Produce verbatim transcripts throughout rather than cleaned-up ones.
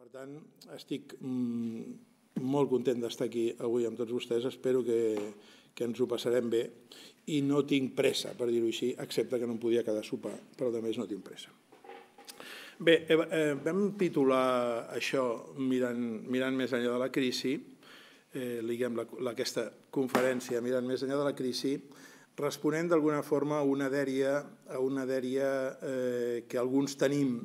Per tant, estic molt content d'estar aquí avui amb tots vostès. Espero que, que ens ho passarem bé i no tinc pressa, per dir-ho així, excepte que no em podia quedar a sopar, però a més no tinc pressa. Bé, eh, vam titular això mirant, mirant més enllà de la crisi, eh, liguem la, aquesta conferència mirant més enllà de la crisi, responent d'alguna forma a una dèria, a una dèria eh, que alguns tenim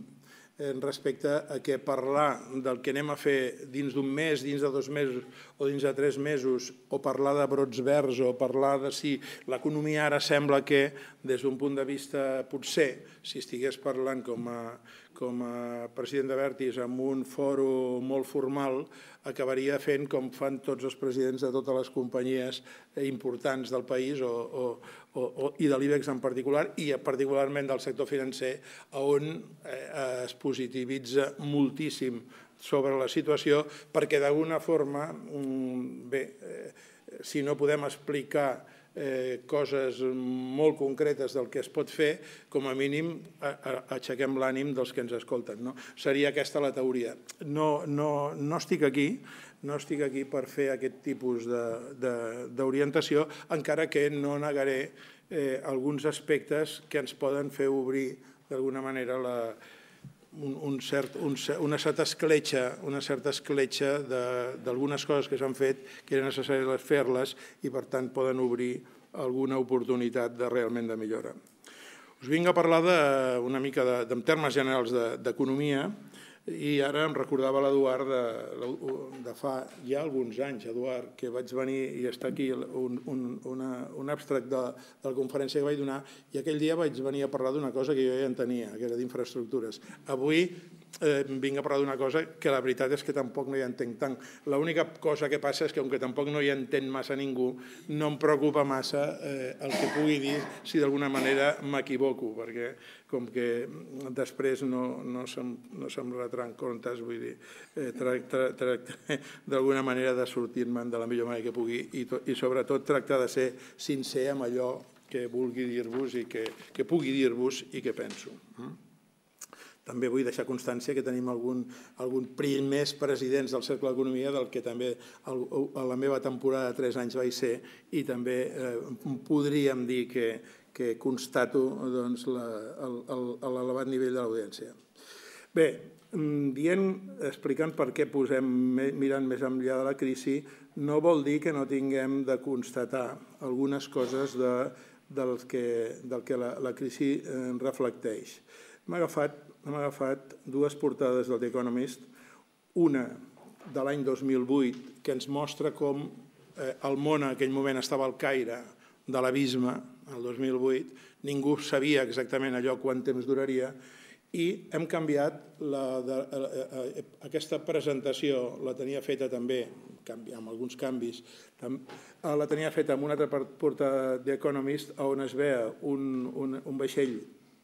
respecte a que parlar del que anem a fer dins d'un mes, dins de dos mesos o dins de tres mesos, o parlar de brots verds o parlar de si l'economia ara sembla que, des d'un punt de vista, potser, si estigués parlant com a, com a president d'Abertis en un fòrum molt formal, acabaria fent com fan tots els presidents de totes les companyies importants del país o, o, o, i de l'IBEX en particular, i particularment del sector financer, on eh, es positivitza moltíssim sobre la situació, perquè d'alguna forma, bé, eh, si no podem explicar Eh, coses molt concretes del que es pot fer, com a mínim aixequem l'ànim dels que ens escolten. No? Seria aquesta la teoria. No, no, no estic aquí, no estic aquí per fer aquest tipus d'orientació, encara que no negaré eh, alguns aspectes que ens poden fer obrir d'alguna manera la Un, un cert, un, una certa escletxa, una certa escletxa d'algunes coses que s'han fet que era necessari fer-les i per tant poden obrir alguna oportunitat de realment de millora. Us vinc a parlar de, una mica de, de, en termes generals d'economia, i ara em recordava l'Eduard de, de fa ja alguns anys, Eduard, que vaig venir i està aquí un, un, una, un abstract de, de la conferència que vaig donar, i aquell dia vaig venir a parlar d'una cosa que jo ja entenia, que era d'infraestructures. Avui eh, vinc a parlar d'una cosa que la veritat és que tampoc no hi entenc tant. L'única cosa que passa és que, com que tampoc no hi entén massa ningú, no em preocupa massa eh, el que pugui dir si d'alguna manera m'equivoco, perquè com que després no, no se'm, no se'm retran comptes, vull dir, eh, tractaré d'alguna manera de sortir-me'n de la millor manera que pugui i, to, i sobretot tractar de ser sincer amb allò que vulgui dir-vos i que, que pugui dir-vos i que penso. També vull deixar constància que tenim algun, algun primers presidents del Cercle d'Economia, del que també el, a la meva temporada de tres anys vaig ser, i també eh, podríem dir que, que constato doncs, l'elevat nivell de l'audiència. Bé, dient, explicant per què posem mirant més enllà de la crisi, no vol dir que no tinguem de constatar algunes coses de, del, que, del que la, la crisi eh, reflecteix. Hem agafat, hem agafat dues portades del The Economist, una de l'any dos mil vuit, que ens mostra com eh, el món en aquell moment estava al caire de l'abisme, el dos mil vuit, ningú sabia exactament allò quant temps duraria, i hem canviat la, de, eh, aquesta presentació, la tenia feta també, amb alguns canvis, la tenia feta amb una altra portada de The Economist, on es veia un, un, un vaixell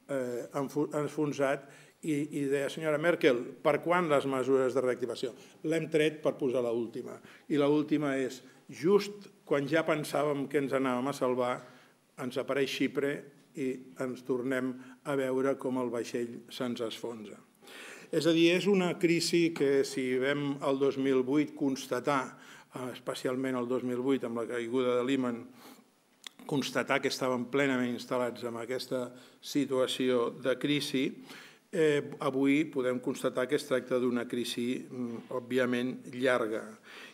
eh, enfonsat i, i deia, senyora Merkel, per quan les mesures de reactivació? L'hem tret per posar l'última. I l'última és, just quan ja pensàvem que ens anàvem a salvar, ens apareix Xipre i ens tornem a veure com el vaixell se'ns esfonsa. És a dir, és una crisi que si vam el dos mil vuit constatar, especialment el dos mil vuit amb la caiguda de Lehman, constatar que estàvem plenament instal·lats en aquesta situació de crisi, eh, avui podem constatar que es tracta d'una crisi, òbviament, llarga.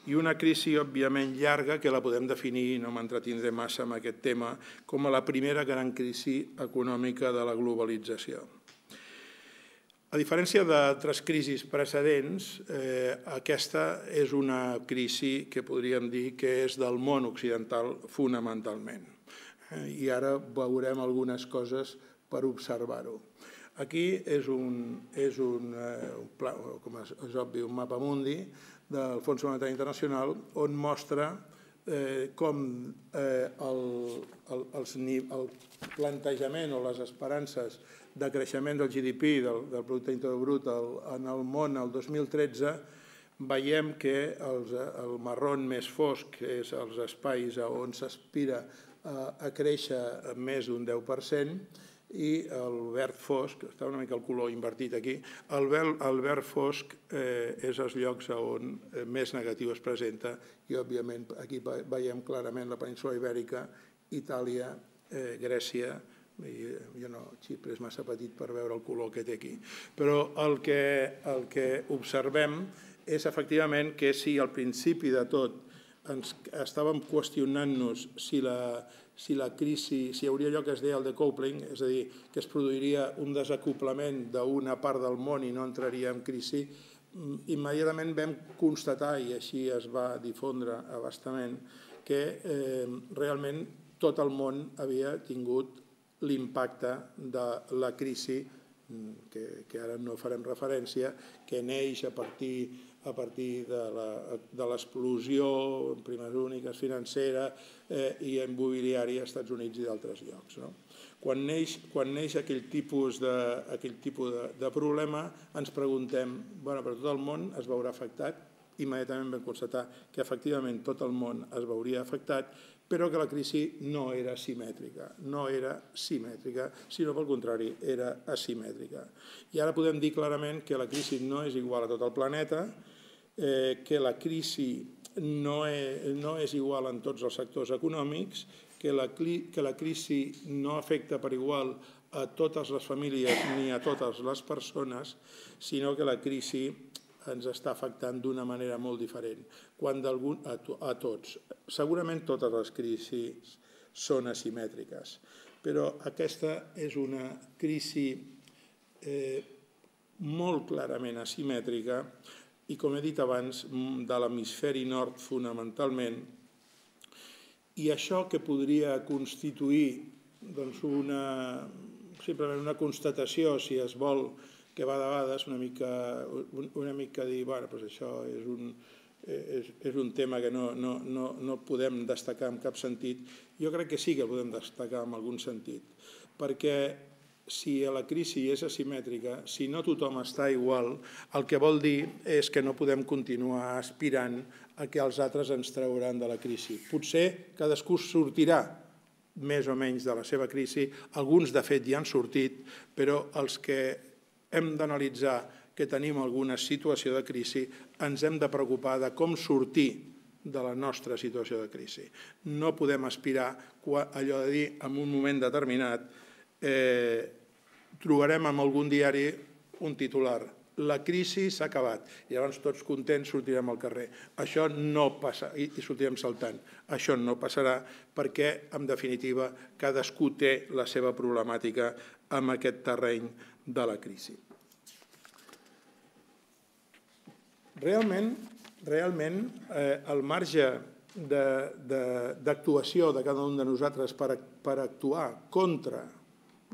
I una crisi, òbviament, llarga que la podem definir, no m'entretindré massa en aquest tema, com a la primera gran crisi econòmica de la globalització. A diferència d'altres crisis precedents, eh, aquesta és una crisi que podríem dir que és del món occidental fonamentalment. I ara veurem algunes coses per observar-ho. Aquí és un, és un, eh, un pla, com és, és obvi, un mapa mundi del Fons Monetari Internacional on mostra eh, com eh, el, el, els, el plantejament o les esperances de creixement del G D P, del, del Producte Interior Brut en el món el dos mil tretze, veiem que els, el marrón més fosc, que és els espais on s'aspira a créixer més d'un deu per cent, i el verd fosc, està una mica el color invertit aquí, el verd fosc és els llocs on més negatiu es presenta i, òbviament, aquí veiem clarament la península Ibèrica, Itàlia, Grècia, jo no, Xipre és massa petit per veure el color que té aquí, però el que observem és efectivament que si al principi de tot estàvem qüestionant-nos si la si la crisi, si hi hauria allò que es deia el decoupling, és a dir, que es produiria un desacoplament d'una part del món i no entraria en crisi, immediatament vam constatar, i així es va difondre a bastament, que realment tot el món havia tingut l'impacte de la crisi, que ara no farem referència, que neix a partir a partir de l'explosió en primes úniques, financera i immobiliària als Estats Units i d'altres llocs. Quan neix aquell tipus de problema, ens preguntem, però tot el món es veurà afectat? Immediatament vam constatar que efectivament tot el món es veuria afectat, però que la crisi no era simètrica, no era simètrica, sinó pel contrari, era asimètrica. I ara podem dir clarament que la crisi no és igual a tot el planeta, que la crisi no és igual en tots els sectors econòmics, que la crisi no afecta per igual a totes les famílies ni a totes les persones, sinó que la crisi ens està afectant d'una manera molt diferent, a tots. Segurament totes les crisis són asimètriques, però aquesta és una crisi molt clarament asimètrica i, com he dit abans, de l'hemisferi nord fonamentalment, i això que podria constituir simplement una constatació, si es vol, que va de vegades una mica dir, bueno, doncs això és un tema que no podem destacar en cap sentit. Jo crec que sí que podem destacar en algun sentit, perquè si la crisi és asimètrica, si no tothom està igual, el que vol dir és que no podem continuar aspirant a que els altres ens trauran de la crisi. Potser cadascú sortirà més o menys de la seva crisi, alguns de fet ja han sortit, però els que hem d'analitzar que tenim alguna situació de crisi ens hem de preocupar de com sortir de la nostra situació de crisi. No podem aspirar allò de dir en un moment determinat trobarem en algun diari un titular, la crisi s'ha acabat, i llavors tots contents sortirem al carrer. Això no passa, i sortirem saltant. Això no passarà perquè, en definitiva, cadascú té la seva problemàtica en aquest terreny de la crisi. Realment, realment, el marge d'actuació de cada un de nosaltres per actuar contra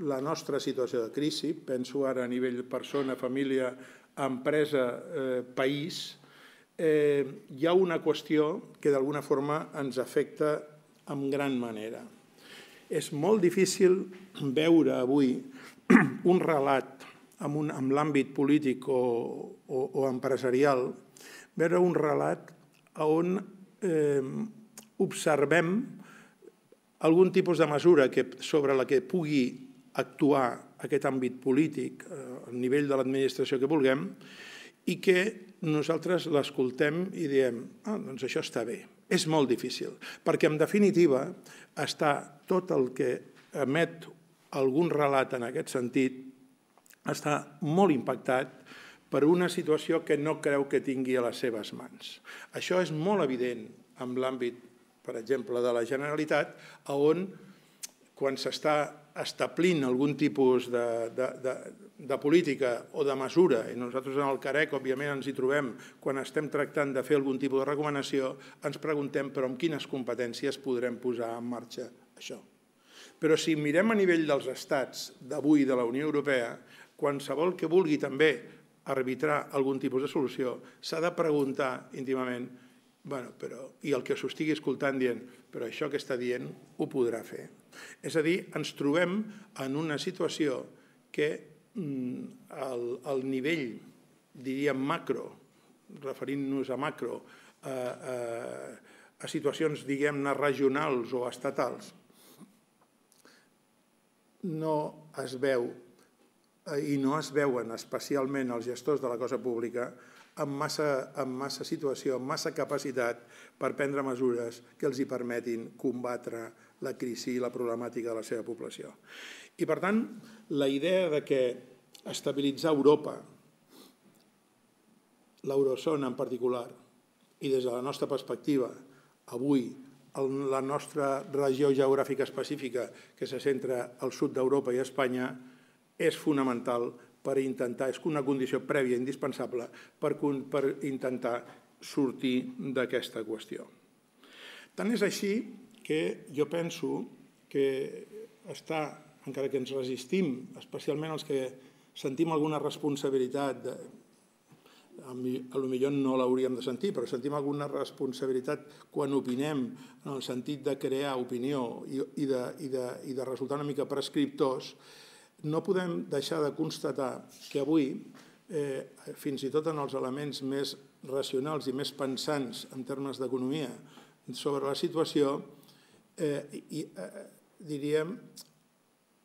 la nostra situació de crisi, penso ara a nivell persona, família, empresa, país, hi ha una qüestió que d'alguna forma ens afecta en gran manera. És molt difícil veure avui un relat en l'àmbit polític o empresarial, veure un relat on observem algun tipus de mesura sobre la que pugui actuar aquest àmbit polític a nivell de l'administració que vulguem i que nosaltres l'escoltem i diem, ah, doncs això està bé. És molt difícil, perquè en definitiva està tot el que emet algun relat en aquest sentit està molt impactat per una situació que no creu que tingui a les seves mans. Això és molt evident en l'àmbit, per exemple, de la Generalitat, on quan s'està establint algun tipus de política o de mesura, i nosaltres en el Carec, òbviament, ens hi trobem quan estem tractant de fer algun tipus de recomanació, ens preguntem però amb quines competències podrem posar en marxa això. Però si mirem a nivell dels estats d'avui de la Unió Europea, qualsevol que vulgui també arbitrar algun tipus de solució s'ha de preguntar íntimament i el que s'ho estigui escoltant dient però això que està dient ho podrà fer. És a dir, ens trobem en una situació que al nivell, diríem, macro, referint-nos a macro, a situacions, diguem-ne, regionals o estatals, no es veu i no es veuen especialment els gestors de la cosa pública amb massa, amb massa situació, amb massa capacitat per prendre mesures que els hi permetin combatre la crisi i la problemàtica de la seva població. I, per tant, la idea de que estabilitzar Europa, l'eurozona en particular, i des de la nostra perspectiva, avui, la nostra regió geogràfica específica, que se centra al sud d'Europa i a Espanya, és fonamental per intentar, és una condició prèvia indispensable per intentar sortir d'aquesta qüestió. Tant és així que jo penso que està, encara que ens resistim, especialment els que sentim alguna responsabilitat, potser no l'hauríem de sentir, però sentim alguna responsabilitat quan opinem en el sentit de crear opinió i de, i de, i de resultar una mica prescriptors, no podem deixar de constatar que avui, eh, fins i tot en els elements més racionals i més pensants en termes d'economia sobre la situació, eh, i, eh, diríem,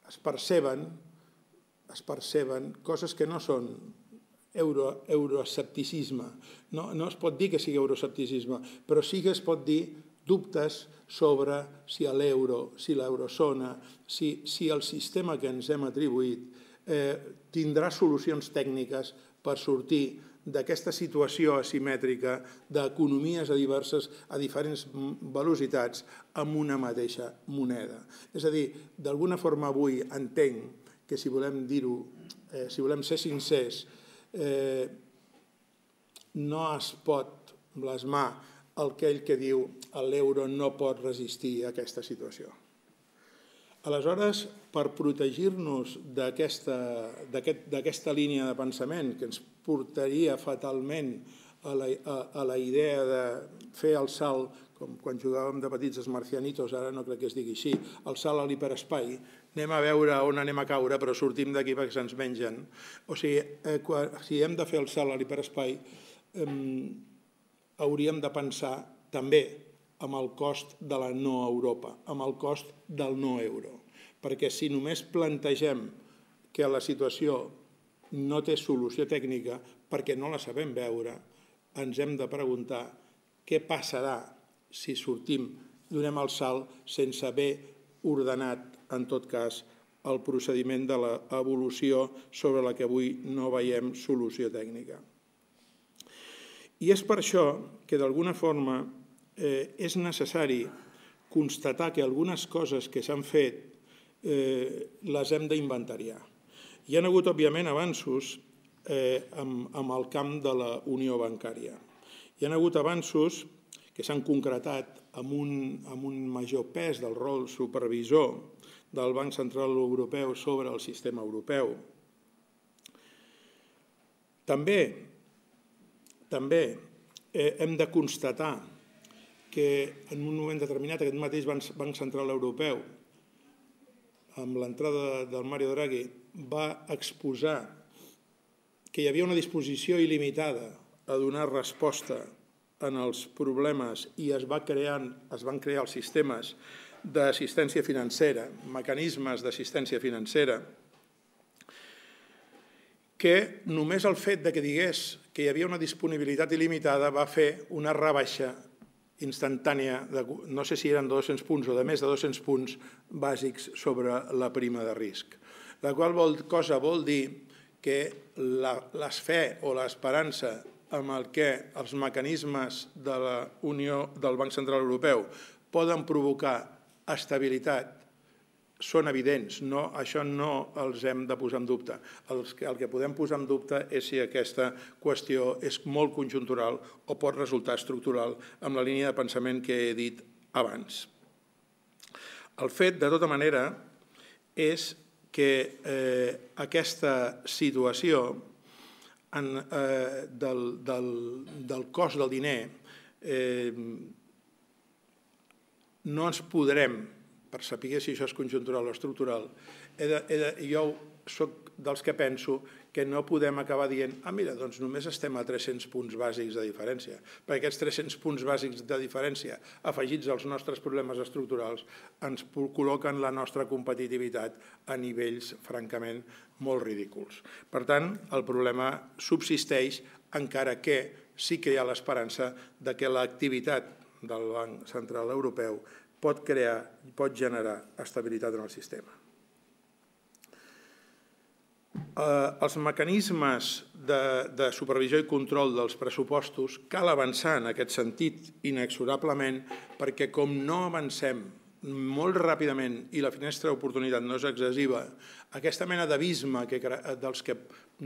es perceben, es perceben coses que no són euro, euroescepticisme. No, no es pot dir que sigui euroescepticisme, però sí que es pot dir dubtes sobre si l'euro, si l'eurozona, si, si el sistema que ens hem atribuït eh, tindrà solucions tècniques per sortir d'aquesta situació asimètrica d'economies a diverses, a diferents velocitats amb una mateixa moneda. És a dir, d'alguna forma avui entenc que si volem dir-ho, eh, si volem ser sincers, eh, no es pot blasmar aquell que diu que l'euro no pot resistir a aquesta situació. Aleshores, per protegir-nos d'aquesta línia de pensament que ens portaria fatalment a la, a, a la idea de fer el salt, com quan jugàvem de petits els marcianitos, ara no crec que es digui així, el salt a l'hiperespai, anem a veure on anem a caure, però sortim d'aquí perquè se'ns mengen. O sigui, eh, quan, si hem de fer el salt a l'hiperespai, eh, hauríem de pensar també amb el cost de la no Europa, amb el cost del no euro. Perquè si només plantegem que la situació no té solució tècnica perquè no la sabem veure, ens hem de preguntar què passarà si sortim, donem el salt sense haver ordenat, en tot cas, el procediment de l'evolució sobre la que avui no veiem solució tècnica. I és per això que, d'alguna forma, eh, és necessari constatar que algunes coses que s'han fet eh, les hem d'inventariar. Hi ha hagut, òbviament, avanços eh, amb, amb el camp de la unió bancària. Hi ha hagut avanços que s'han concretat amb un, amb un major pes del rol supervisor del Banc Central Europeu sobre el sistema europeu. També També eh, hem de constatar que en un moment determinat aquest mateix Banc Central Europeu, amb l'entrada del Mario Draghi, va exposar que hi havia una disposició il·limitada a donar resposta en els problemes i es, va crear, es van crear els sistemes d'assistència financera, mecanismes d'assistència financera, que només el fet que digués que hi havia una disponibilitat il·limitada va fer una rebaixa instantània, de, no sé si eren dos-cents punts o de més de dos-cents punts bàsics sobre la prima de risc. La qual cosa vol dir que l'esfe o l'esperança amb el que els mecanismes de la Unió del Banc Central Europeu poden provocar estabilitat són evidents, no, això no els hem de posar en dubte. El que, el que podem posar en dubte és si aquesta qüestió és molt conjuntural o pot resultar estructural amb la línia de pensament que he dit abans. El fet, de tota manera, és que eh, aquesta situació en, eh, del, del, del cost del diner eh, no ens podrem, per saber si això és conjuntural o estructural, he de, he de, jo soc dels que penso que no podem acabar dient ah, mira, doncs només estem a tres-cents punts bàsics de diferència, perquè aquests tres-cents punts bàsics de diferència afegits als nostres problemes estructurals ens col·loquen la nostra competitivitat a nivells francament molt ridículs. Per tant, el problema subsisteix, encara que sí que hi ha l'esperança de que l'activitat del Banc Central Europeu pot crear, pot generar estabilitat en el sistema. Els mecanismes de supervisió i control dels pressupostos cal avançar en aquest sentit inexorablement perquè com no avancem molt ràpidament i la finestra d'oportunitat no és excessiva, aquesta mena d'abisme dels que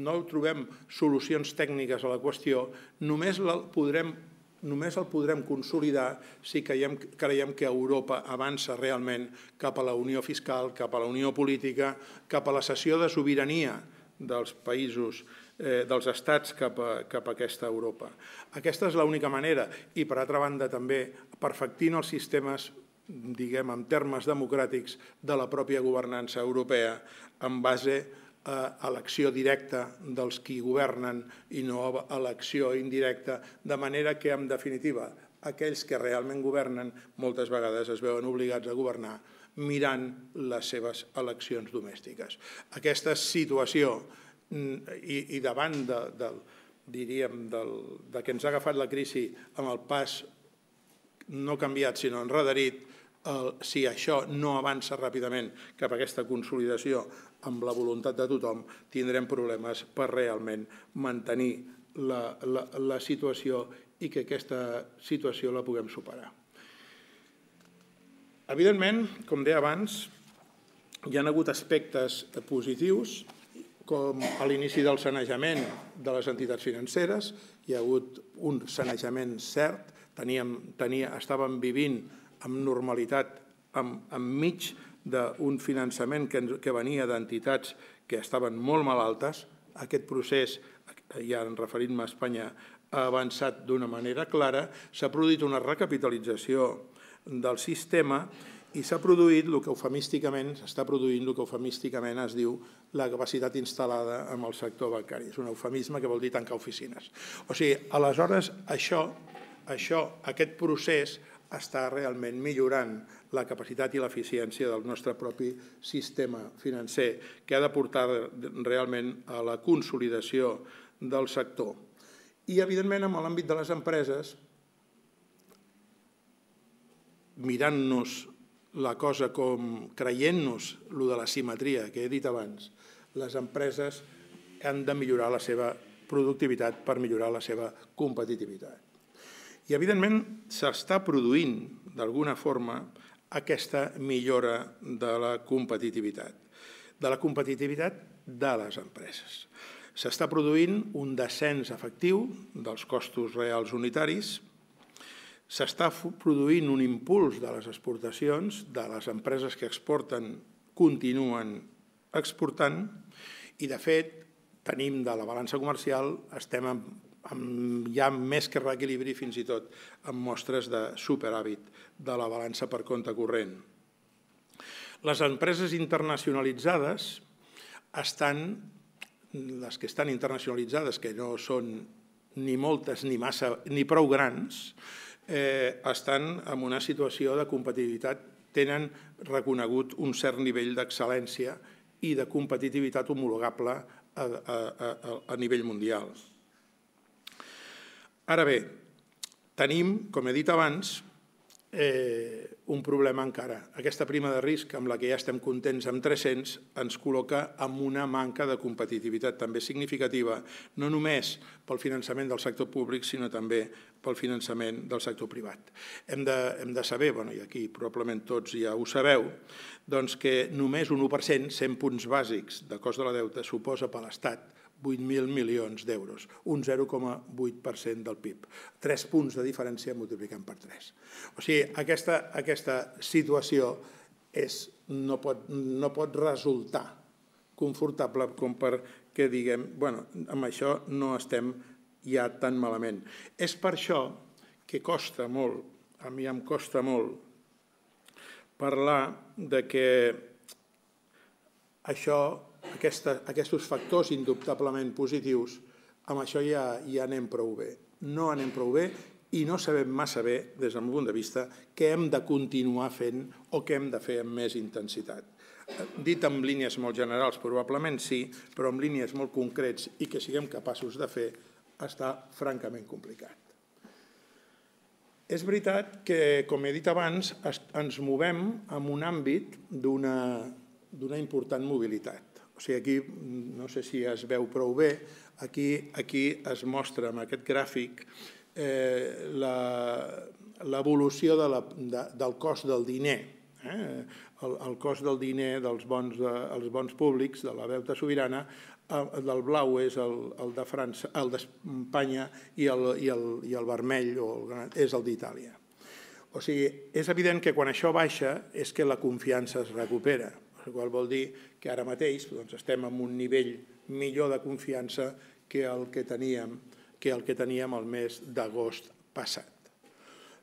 no trobem solucions tècniques a la qüestió només el podrem només el podrem consolidar si creiem que Europa avança realment cap a la unió fiscal, cap a la unió política, cap a la cessió de sobirania dels països, dels estats cap a aquesta Europa. Aquesta és l'única manera i, per altra banda, també perfectint els sistemes, diguem, en termes democràtics de la pròpia governança europea en base a l'acció directa dels qui governen i no a l'acció indirecta, de manera que, en definitiva, aquells que realment governen moltes vegades es veuen obligats a governar mirant les seves eleccions domèstiques. Aquesta situació i davant diríem de que ens ha agafat la crisi amb el pas no canviat sinó enrederit, si això no avança ràpidament cap a aquesta consolidació amb la voluntat de tothom, tindrem problemes per realment mantenir la situació i que aquesta situació la puguem superar. Evidentment, com deia abans, hi ha hagut aspectes positius, com a l'inici del sanejament de les entitats financeres, hi ha hagut un sanejament cert, estàvem vivint amb normalitat enmig d'un finançament que venia d'entitats que estaven molt malaltes. Aquest procés, ja referint-me a Espanya, ha avançat d'una manera clara, s'ha produït una recapitalització del sistema i s'ha produït el que eufemísticament s'està produint, el que eufemísticament es diu la capacitat instal·lada en el sector bancari. És un eufemisme que vol dir tancar oficines. O sigui, aleshores, això, aquest procés està realment millorant la capacitat i l'eficiència del nostre propi sistema financer, que ha de portar realment a la consolidació del sector. I, evidentment, en l'àmbit de les empreses, mirant-nos la cosa com creient-nos el de la simetria que he dit abans, les empreses han de millorar la seva productivitat per millorar la seva competitivitat. I, evidentment, s'està produint, d'alguna forma, aquesta millora de la competitivitat, de la competitivitat de les empreses. S'està produint un descens efectiu dels costos reals unitaris, s'està produint un impuls de les exportacions, de les empreses que exporten continuen exportant i, de fet, tenim de la balança comercial, estem ja més que reequilibri, fins i tot amb mostres de superàvit de la balança per compte corrent. Les empreses internacionalitzades estan, les que estan internacionalitzades, que no són ni moltes ni massa ni prou grans, estan en una situació de competitivitat, tenen reconegut un cert nivell d'excel·lència i de competitivitat homologable a nivell mundial. Ara bé, tenim, com he dit abans, un problema encara. Aquesta prima de risc, amb la que ja estem contents amb tres-cents, ens col·loca amb una manca de competitivitat també significativa, no només pel finançament del sector públic, sinó també pel finançament del sector privat. Hem de saber, i aquí probablement tots ja ho sabeu, que només un u per cent, cent punts bàsics de cost de la deute, suposa per l'Estat vuit mil milions d'euros, un zero coma vuit per cent del P I B. Tres punts de diferència multiplicant per tres. O sigui, aquesta situació no pot resultar confortable com perquè diguem, bueno, amb això no estem ja tan malament. És per això que costa molt, a mi em costa molt, parlar de que això aquests factors indubtablement positius, amb això ja anem prou bé. No anem prou bé i no sabem massa bé, des del meu punt de vista, què hem de continuar fent o què hem de fer amb més intensitat. Dit en línies molt generals, probablement sí, però en línies molt concrets i que siguem capaços de fer, està francament complicat. És veritat que, com he dit abans, ens movem en un àmbit d'una important mobilitat. O sigui, aquí, no sé si es veu prou bé, aquí es mostra amb aquest gràfic l'evolució del cost del diner. El cost del diner dels bons públics, de la deute sobirana, del blau és el d'Espanya i el vermell és el d'Itàlia. O sigui, és evident que quan això baixa és que la confiança es recupera, el qual vol dir que ara mateix estem en un nivell millor de confiança que el que teníem que el que teníem el mes d'agost passat.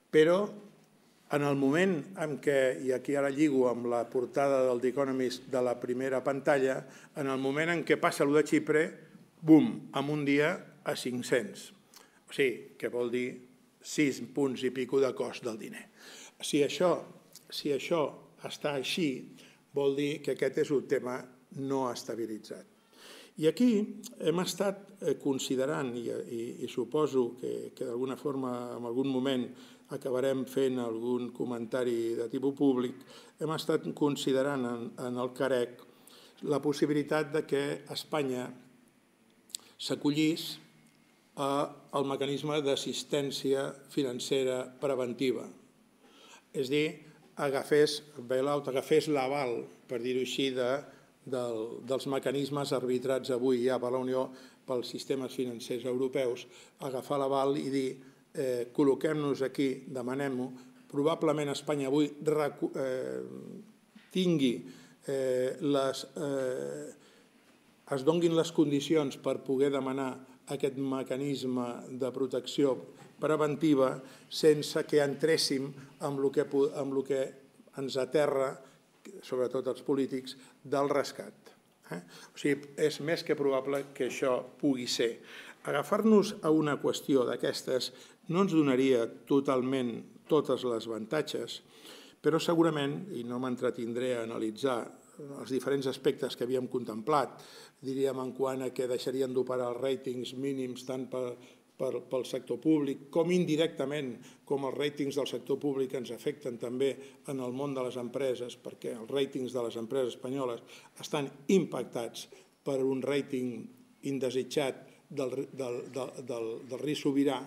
Però en el moment en què, i aquí ara lligo amb la portada del The Economist de la primera pantalla, en el moment en què passa allò de Xipre, bum, en un dia a cinc-cents. O sigui, que vol dir sis punts i pico de cost del diner. Si això està així, vol dir que aquest és un tema no estabilitzat. I aquí hem estat considerant, i suposo que d'alguna forma en algun moment acabarem fent algun comentari de tipus públic, hem estat considerant en el Carec la possibilitat que Espanya s'acollís al mecanisme d'assistència financera preventiva. És a dir, agafés l'aval, per dir-ho així, dels mecanismes arbitrats avui ja per la Unió, pels sistemes financers europeus, agafar l'aval i dir col·loquem-nos aquí, demanem-ho, probablement Espanya avui tingui, es donguin les condicions per poder demanar aquest mecanisme de protecció preventiva sense que entréssim amb el que ens aterra, sobretot els polítics, del rescat. O sigui, és més que probable que això pugui ser. Agafar-nos a una qüestió d'aquestes no ens donaria totalment totes les avantatges, però segurament, i no m'entretindré a analitzar els diferents aspectes que havíem contemplat, diríem en quant a que deixarien d'operar els ràtings mínims tant pel sector públic com indirectament com els ràtings del sector públic ens afecten també en el món de les empreses, perquè els ràtings de les empreses espanyoles estan impactats per un ràting indesitjat del risc sobirà.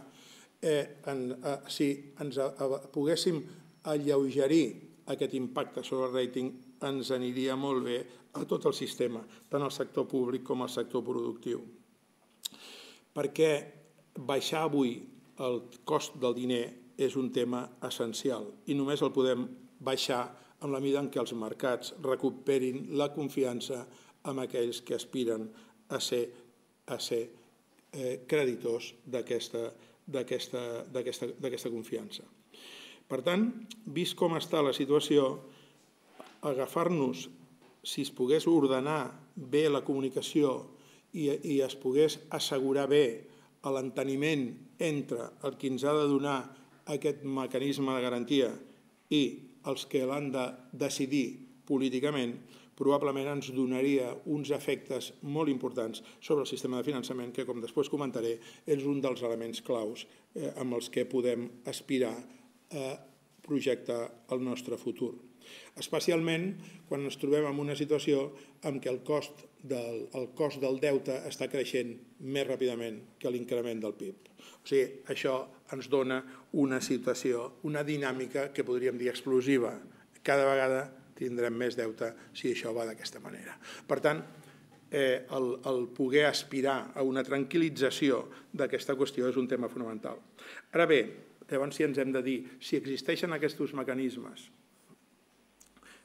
Si ens poguéssim alleugerir aquest impacte sobre el ràting, ens aniria molt bé a tot el sistema, tant el sector públic com el sector productiu. Perquè baixar avui el cost del diner és un tema essencial i només el podem baixar en la mesura en què els mercats recuperin la confiança en aquells que aspiren a ser creditors d'aquesta confiança. Per tant, vist com està la situació, agafar-nos, si es pogués ordenar bé la comunicació i es pogués assegurar bé l'enteniment entre el que ens ha de donar aquest mecanisme de garantia i els que l'han de decidir políticament, probablement ens donaria uns efectes molt importants sobre el sistema de finançament que, com després comentaré, és un dels elements claus amb els que podem aspirar a projectar el nostre futur. Especialment quan ens trobem en una situació en què el cost del deute està creixent més ràpidament que l'increment del P I B. O sigui, això ens dona una situació, una dinàmica que podríem dir explosiva. Cada vegada tindrem més deute si això va d'aquesta manera. Per tant, el poder aspirar a una tranquil·lització d'aquesta qüestió és un tema fonamental. Ara bé, llavors si ens hem de dir si existeixen aquests mecanismes,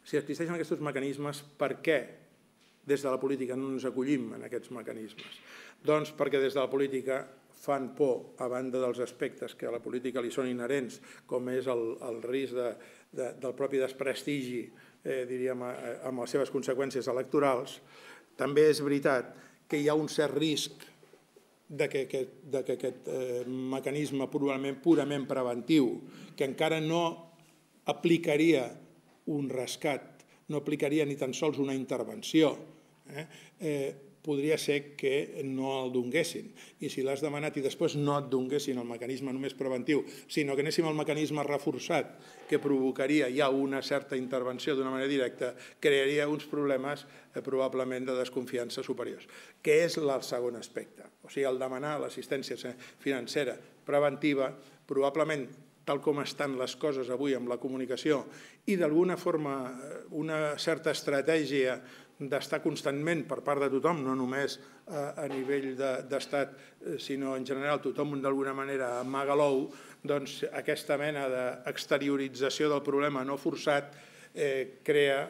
si existeixen aquests mecanismes, per què des de la política no ens acollim en aquests mecanismes? Doncs perquè des de la política fan por, a banda dels aspectes que a la política li són inherents, com és el risc del propi desprestigi, diríem, amb les seves conseqüències electorals, També és veritat que hi ha un cert risc de que aquest mecanisme purament preventiu, que encara no aplicaria un rescat, no aplicaria ni tan sols una intervenció, podria ser que no el donguessin. I si l'has demanat i després no et donguessin el mecanisme només preventiu, sinó que anéssim al mecanisme reforçat, que provocaria ja una certa intervenció d'una manera directa, crearia uns problemes probablement de desconfiança superiors, que és el segon aspecte. O sigui, el demanar l'assistència financera preventiva, probablement, tal com estan les coses avui amb la comunicació i d'alguna forma una certa estratègia d'estar constantment per part de tothom, no només a nivell d'estat, sinó en general tothom d'alguna manera amaga l'ou, doncs aquesta mena d'exteriorització del problema no forçat crea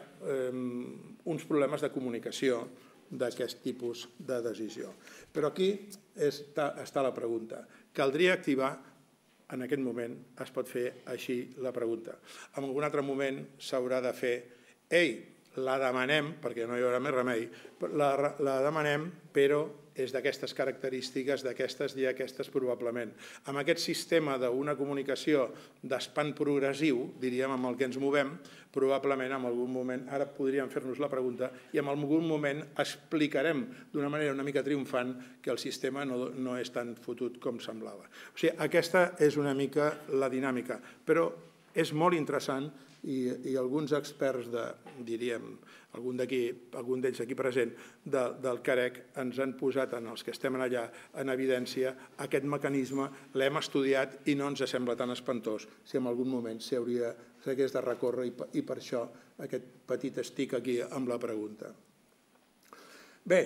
uns problemes de comunicació d'aquest tipus de decisió. Però aquí està la pregunta. Caldria activar, en aquest moment es pot fer així la pregunta. En algun altre moment s'haurà de fer, ei, la demanem, perquè no hi haurà més remei, la demanem, però és d'aquestes característiques, d'aquestes i aquestes probablement. Amb aquest sistema d'una comunicació d'espant progressiu, diríem, amb el que ens movem, probablement en algun moment, ara podríem fer-nos la pregunta, i en algun moment explicarem d'una manera una mica triomfant que el sistema no és tan fotut com semblava. O sigui, aquesta és una mica la dinàmica, però és molt interessant i alguns experts, diríem, algun d'ells aquí present, del CAREC, ens han posat, en els que estem allà, en evidència aquest mecanisme, l'hem estudiat i no ens sembla tan espantós si en algun moment s'hagués de recórrer i per això aquest petit estic aquí amb la pregunta. Bé,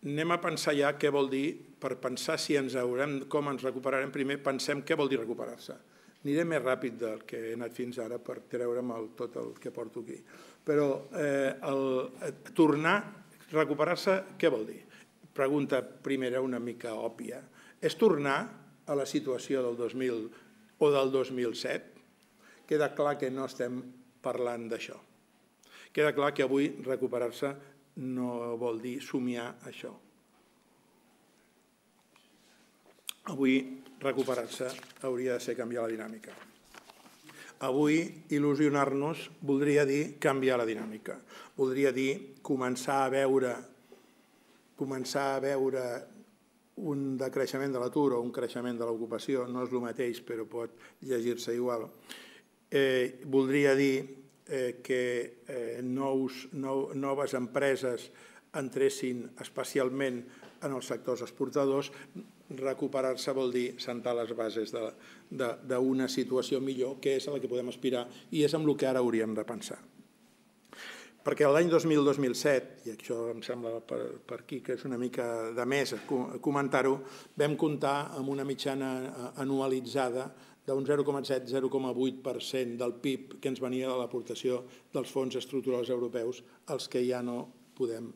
anem a pensar ja què vol dir, per pensar si ens haurem, com ens recuperarem, primer pensem què vol dir recuperar-se. Aniré més ràpid del que he anat fins ara per treure'm tot el que porto aquí. Però tornar, recuperar-se, què vol dir? Pregunta primera una mica òbvia. És tornar a la situació del dos mil o del dos mil set? Queda clar que no estem parlant d'això. Queda clar que avui recuperar-se no vol dir somiar això. Avui recuperar-se hauria de ser canviar la dinàmica. Avui il·lusionar-nos voldria dir canviar la dinàmica. Voldria dir començar a veure començar a veure un decreixement de l'atur o un creixement de l'ocupació, no és el mateix però pot llegir-se igual. Voldria dir que noves empreses entressin especialment en els sectors exportadors. Recuperar-se vol dir sentar les bases d'una situació millor, que és a la que podem aspirar i és amb el que ara hauríem de pensar. Perquè l'any dos mil dos mil set, i això em sembla per aquí que és una mica de més comentar-ho, vam comptar amb una mitjana anualitzada d'un zero coma set a zero coma vuit per cent del P I B que ens venia de l'aportació dels fons estructurals europeus, els que ja no podem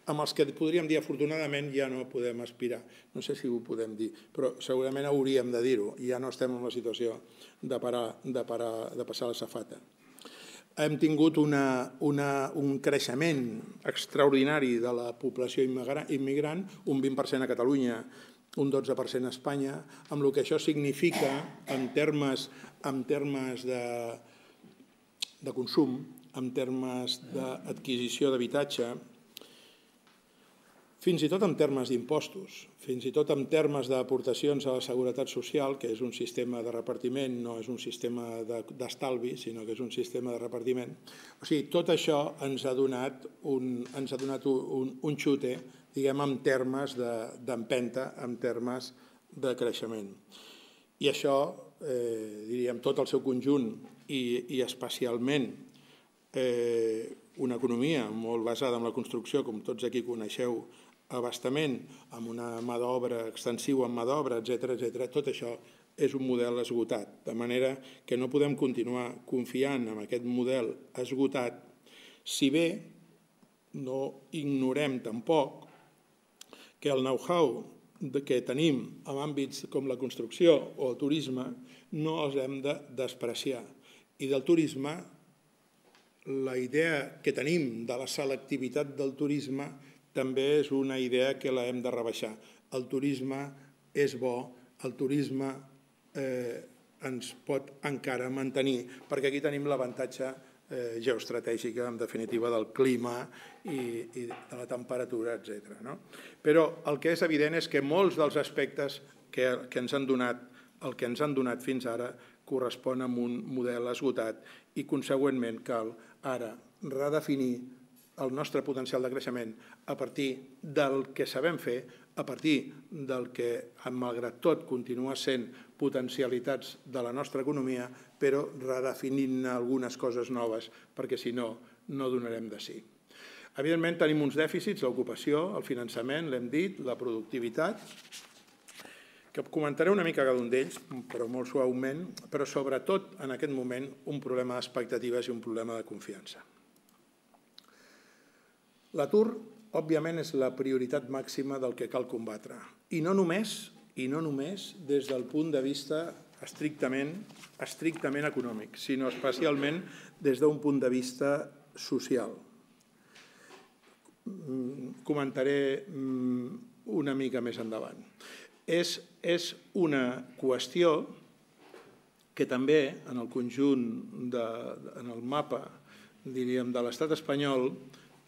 amb els que podríem dir afortunadament ja no podem aspirar. No sé si ho podem dir, però segurament hauríem de dir-ho. Ja no estem en la situació de passar la safata. Hem tingut un creixement extraordinari de la població immigrant, un vint per cent a Catalunya, un dotze per cent a Espanya, amb el que això significa en termes de consum, en termes d'adquisició d'habitatge, fins i tot en termes d'impostos, fins i tot en termes d'aportacions a la seguretat social, que és un sistema de repartiment, no és un sistema d'estalvi, sinó que és un sistema de repartiment. O sigui, tot això ens ha donat un xute, diguem, en termes d'empenta, en termes de creixement. I això, diríem, tot el seu conjunt i especialment una economia molt basada en la construcció, com tots aquí coneixeu, abastament, amb una mà d'obra extensiva, amb mà d'obra, etcètera, etcètera, tot això és un model esgotat, de manera que no podem continuar confiant en aquest model esgotat, si bé no ignorem tampoc que el know-how que tenim en àmbits com la construcció o el turisme no els hem de despreciar. I del turisme la idea que tenim de la selectivitat del turisme també és una idea que la hem de rebaixar. El turisme és bo, el turisme ens pot encara mantenir, perquè aquí tenim l'avantatge geoestratègica, en definitiva, del clima i de la temperatura, etcètera. Però el que és evident és que molts dels aspectes que ens han donat, el que ens han donat fins ara, correspon a un model esgotat i, consegüentment, cal ara redefinir el nostre potencial de creixement a partir del que sabem fer, a partir del que, malgrat tot, continua sent potencialitats de la nostra economia, però redefinint algunes coses noves, perquè si no, no donarem de sí. Evidentment, tenim uns dèficits, l'ocupació, el finançament, l'hem dit, la productivitat, que comentaré una mica cada un d'ells, però molt suaument, però sobretot, en aquest moment, un problema d'expectatives i un problema de confiança. L'atur, òbviament, és la prioritat màxima del que cal combatre. I no només, i no només des del punt de vista estrictament, estrictament econòmic, sinó especialment des d'un punt de vista social. Comentaré una mica més endavant. És, és una qüestió que també en el conjunt, de, en el mapa, diríem, de l'estat espanyol,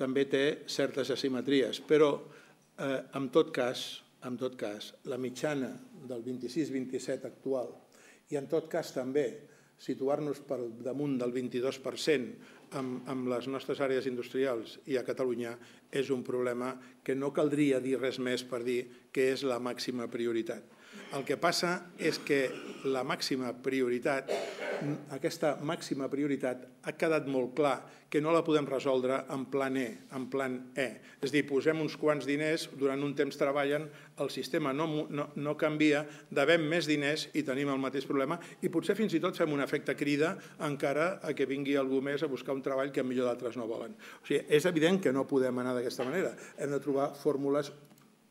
també té certes asimetries, però eh, en tot cas, en tot cas, la mitjana del vint-i-sis vint-i-set actual i en tot cas també situar-nos per damunt del vint-i-dos per cent amb, amb les nostres àrees industrials i a Catalunya és un problema que no caldria dir res més per dir que és la màxima prioritat. El que passa és que la màxima prioritat, aquesta màxima prioritat ha quedat molt clar que no la podem resoldre en plan E, en plan E. És a dir, posem uns quants diners, durant un temps treballen, el sistema no, no, no canvia, devem més diners i tenim el mateix problema i potser fins i tot fem un efecte crida encara a que vingui algú més a buscar un treball que millor d'altres no volen. O sigui, és evident que no podem anar d'aquesta manera. Hem de trobar fórmules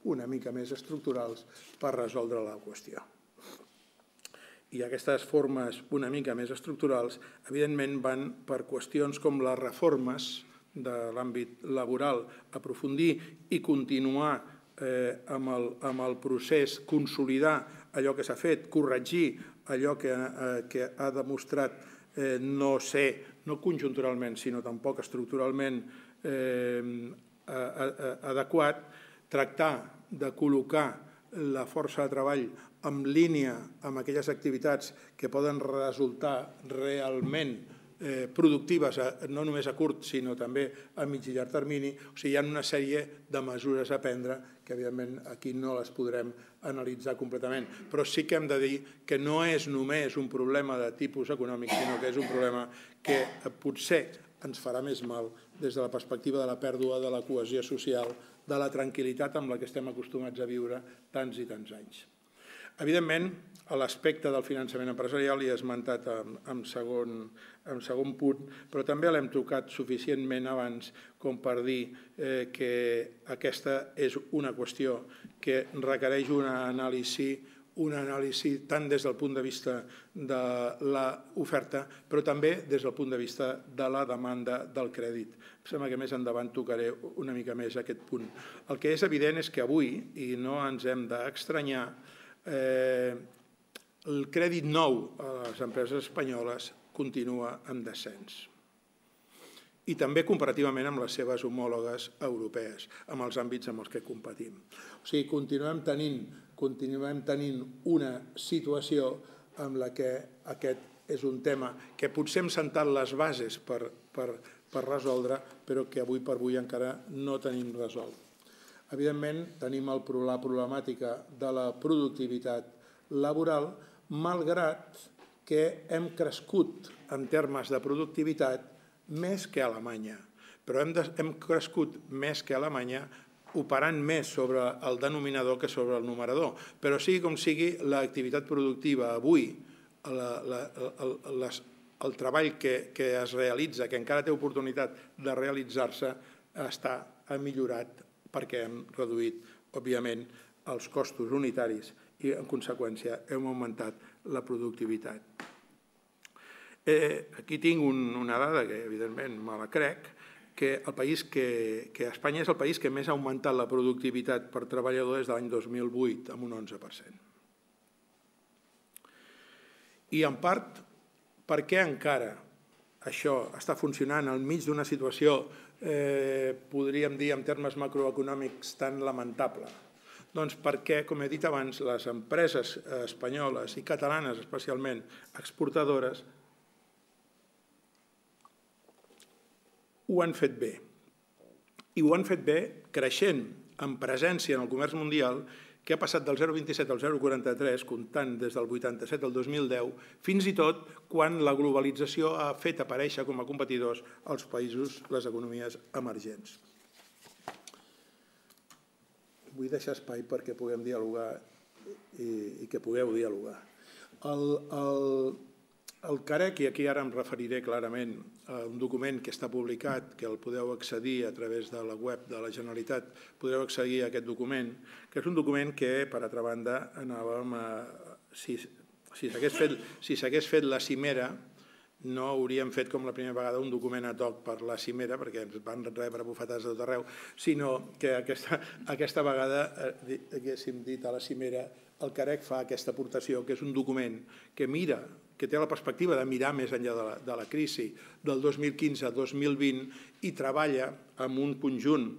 una mica més estructurals per resoldre la qüestió. I aquestes formes una mica més estructurals, evidentment, van per qüestions com les reformes de l'àmbit laboral, aprofundir i continuar eh, amb, el, amb el procés, consolidar allò que s'ha fet, corregir allò que, eh, que ha demostrat eh, no ser, no conjunturalment, sinó tampoc estructuralment eh, adequat, tractar de col·locar la força de treball en línia amb aquelles activitats que poden resultar realment productives, no només a curt, sinó també a mig i llarg termini. O sigui, hi ha una sèrie de mesures a prendre que, evidentment, aquí no les podrem analitzar completament. Però sí que hem de dir que no és només un problema de tipus econòmic, sinó que és un problema que potser ens farà més mal des de la perspectiva de la pèrdua de la cohesió social, de la tranquil·litat amb la que estem acostumats a viure tants i tants anys. Evidentment, l'aspecte del finançament empresarial hi he esmentat en segon, en segon punt, però també l'hem tocat suficientment abans com per dir eh, que aquesta és una qüestió que requereix una anàlisi una anàlisi tant des del punt de vista de l'oferta, però també des del punt de vista de la demanda del crèdit. Em sembla que més endavant tocaré una mica més aquest punt. El que és evident és que avui, i no ens hem d'estranyar, eh, el crèdit nou a les empreses espanyoles continua en descens. I també comparativament amb les seves homòlogues europees, amb els àmbits amb els que competim. O sigui, continuem tenint, continuem tenint una situació en la que aquest és un tema que potser hem sentat les bases per, per, per resoldre, però que avui per avui encara no tenim resolt. Evidentment, tenim el, la problemàtica de la productivitat laboral, malgrat que hem crescut en termes de productivitat més que a Alemanya, però hem, de, hem crescut més que a Alemanya operant més sobre el denominador que sobre el numerador. Però sigui com sigui, l'activitat productiva avui, la, la, el, les, el treball que, que es realitza, que encara té oportunitat de realitzar-se, està millorat perquè hem reduït, òbviament, els costos unitaris i, en conseqüència, hem augmentat la productivitat. Aquí tinc una dada que, evidentment, me la crec, que el país que Espanya és el país que més ha augmentat la productivitat per treballador des de l'any dos mil vuit, amb un onze per cent. I, en part, per què encara això està funcionant enmig d'una situació, podríem dir, en termes macroeconòmics, tan lamentable? Doncs perquè, com he dit abans, les empreses espanyoles i catalanes, especialment exportadores, ho han fet bé. I ho han fet bé creixent en presència en el comerç mundial, que ha passat del zero coma vint-i-set al zero coma quaranta-tres, comptant des del vuitanta-set al dos mil deu, fins i tot quan la globalització ha fet aparèixer com a competidors als països, les economies emergents. Vull deixar espai perquè puguem dialogar i que pugueu dialogar. El CAREC, i aquí ara em referiré clarament a un document que està publicat, que el podeu accedir a través de la web de la Generalitat, podreu accedir a aquest document, que és un document que, per altra banda, anàvem a... Si s'hagués fet la cimera, no hauríem fet com la primera vegada un document ad hoc per la cimera, perquè ens van rebre bufetades de tot arreu, sinó que aquesta vegada haguéssim dit a la cimera el CAREC fa aquesta aportació, que és un document que mira, que té la perspectiva de mirar més enllà de la crisi del dos mil quinze a dos mil vint i treballa amb un conjunt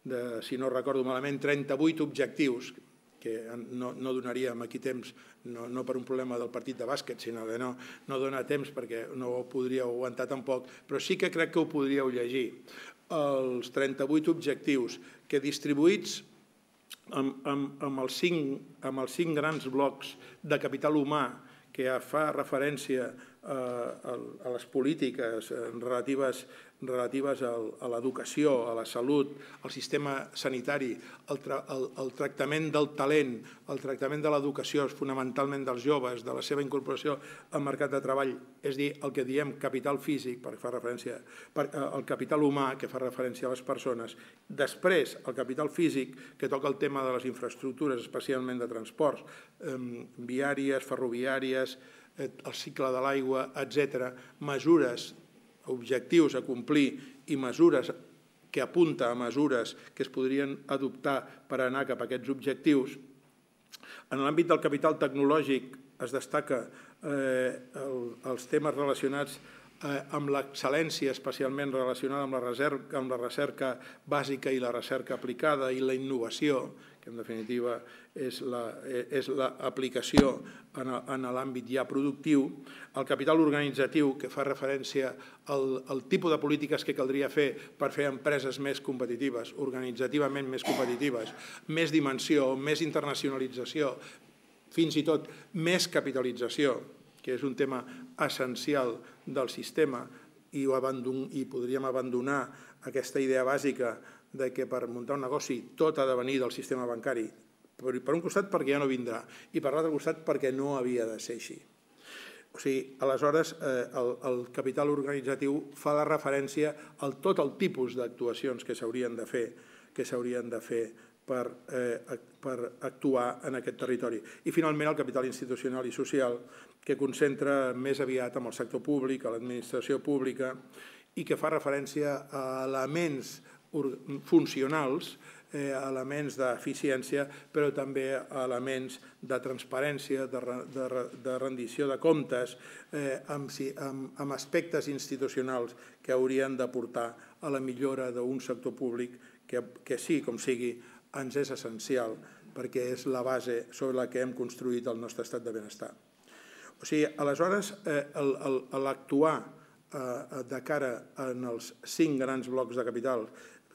de, si no recordo malament, trenta-vuit objectius, que no donaríem aquí temps, no per un problema del partit de bàsquet, sinó que no dona temps perquè no ho podríeu aguantar tampoc, però sí que crec que ho podríeu llegir. Els trenta-vuit objectius que distribuïts amb els cinc grans blocs de capital humà que fa referència a les polítiques relatives a l'educació, a la salut, al sistema sanitari, el tractament del talent, el tractament de l'educació, fonamentalment dels joves, de la seva incorporació al mercat de treball, és a dir, el que diem capital físic, perquè fa referència al capital humà, que fa referència a les persones. Després, el capital físic, que toca el tema de les infraestructures, especialment de transports, viàries, ferroviàries, el cicle de l'aigua, etcètera, mesures, objectius a complir i mesures que apunta a mesures que es podrien adoptar per anar cap a aquests objectius. En l'àmbit del capital tecnològic es destaca els temes relacionats amb l'excel·lència, especialment relacionada amb la recerca bàsica i la recerca aplicada i la innovació, que en definitiva és l'aplicació en l'àmbit ja productiu, el capital organitzatiu, que fa referència al tipus de polítiques que caldria fer per fer empreses més competitives, organitzativament més competitives, més dimensió, més internacionalització, fins i tot més capitalització, que és un tema essencial del sistema, i podríem abandonar aquesta idea bàsica que per muntar un negoci tot ha de venir del sistema bancari, per un costat perquè ja no vindrà i per l'altre costat perquè no havia de ser així. O sigui, aleshores, el capital organitzatiu fa la referència a tot el tipus d'actuacions que s'haurien de fer que s'haurien de fer per actuar en aquest territori. I finalment el capital institucional i social, que concentra més aviat amb el sector públic, a l'administració pública, i que fa referència a elements funcionals, elements d'eficiència, però també elements de transparència, de rendició de comptes, amb aspectes institucionals que haurien d'aportar a la millora d'un sector públic que sí, com sigui, ens és essencial perquè és la base sobre la que hem construït el nostre estat de benestar. O sigui, aleshores, l'actuar de cara als cinc grans blocs de capital,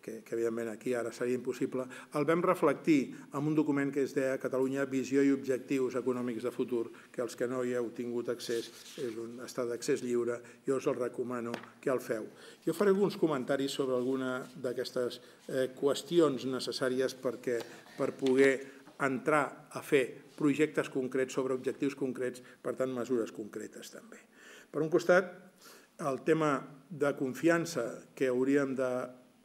que evidentment aquí ara seria impossible, el vam reflectir en un document que es deia Catalunya, visió i objectius econòmics de futur, que els que no hi heu tingut accés, està d'accés lliure, jo us el recomano que el feu. Jo faré alguns comentaris sobre alguna d'aquestes qüestions necessàries per poder entrar a fer projectes concrets sobre objectius concrets, per tant, mesures concretes també. Per un costat, el tema de confiança que hauríem de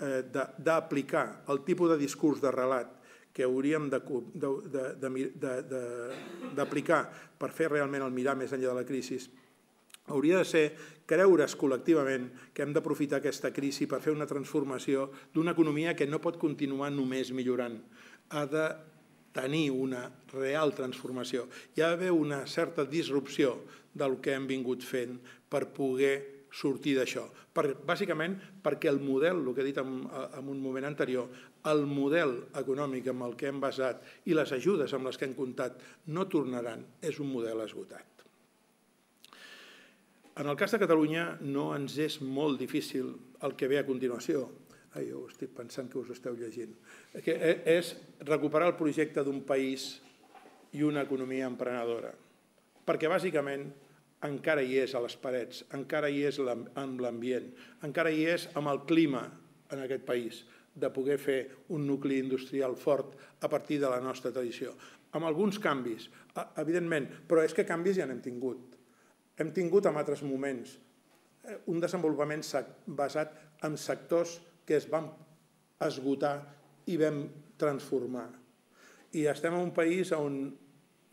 d'aplicar, el tipus de discurs de relat que hauríem d'aplicar per fer realment el mirar més enllà de la crisi, hauria de ser creure's col·lectivament que hem d'aprofitar aquesta crisi per fer una transformació d'una economia que no pot continuar només millorant. Ha de tenir una real transformació. Hi ha d'haver una certa disrupció del que hem vingut fent per poder sortir d'això. Bàsicament perquè el model, el que he dit en un moment anterior, el model econòmic amb el que hem basat i les ajudes amb les que hem comptat no tornaran, és un model esgotat. En el cas de Catalunya no ens és molt difícil el que ve a continuació. Ai, jo estic pensant que us esteu llegint. És recuperar el projecte d'un país i una economia emprenedora. Perquè bàsicament encara hi és a les parets, encara hi és en l'ambient, encara hi és amb el clima en aquest país de poder fer un nucli industrial fort a partir de la nostra tradició. Amb alguns canvis, evidentment, però és que canvis ja n'hem tingut. Hem tingut en altres moments un desenvolupament basat en sectors que es van esgotar i vam transformar. I estem en un país on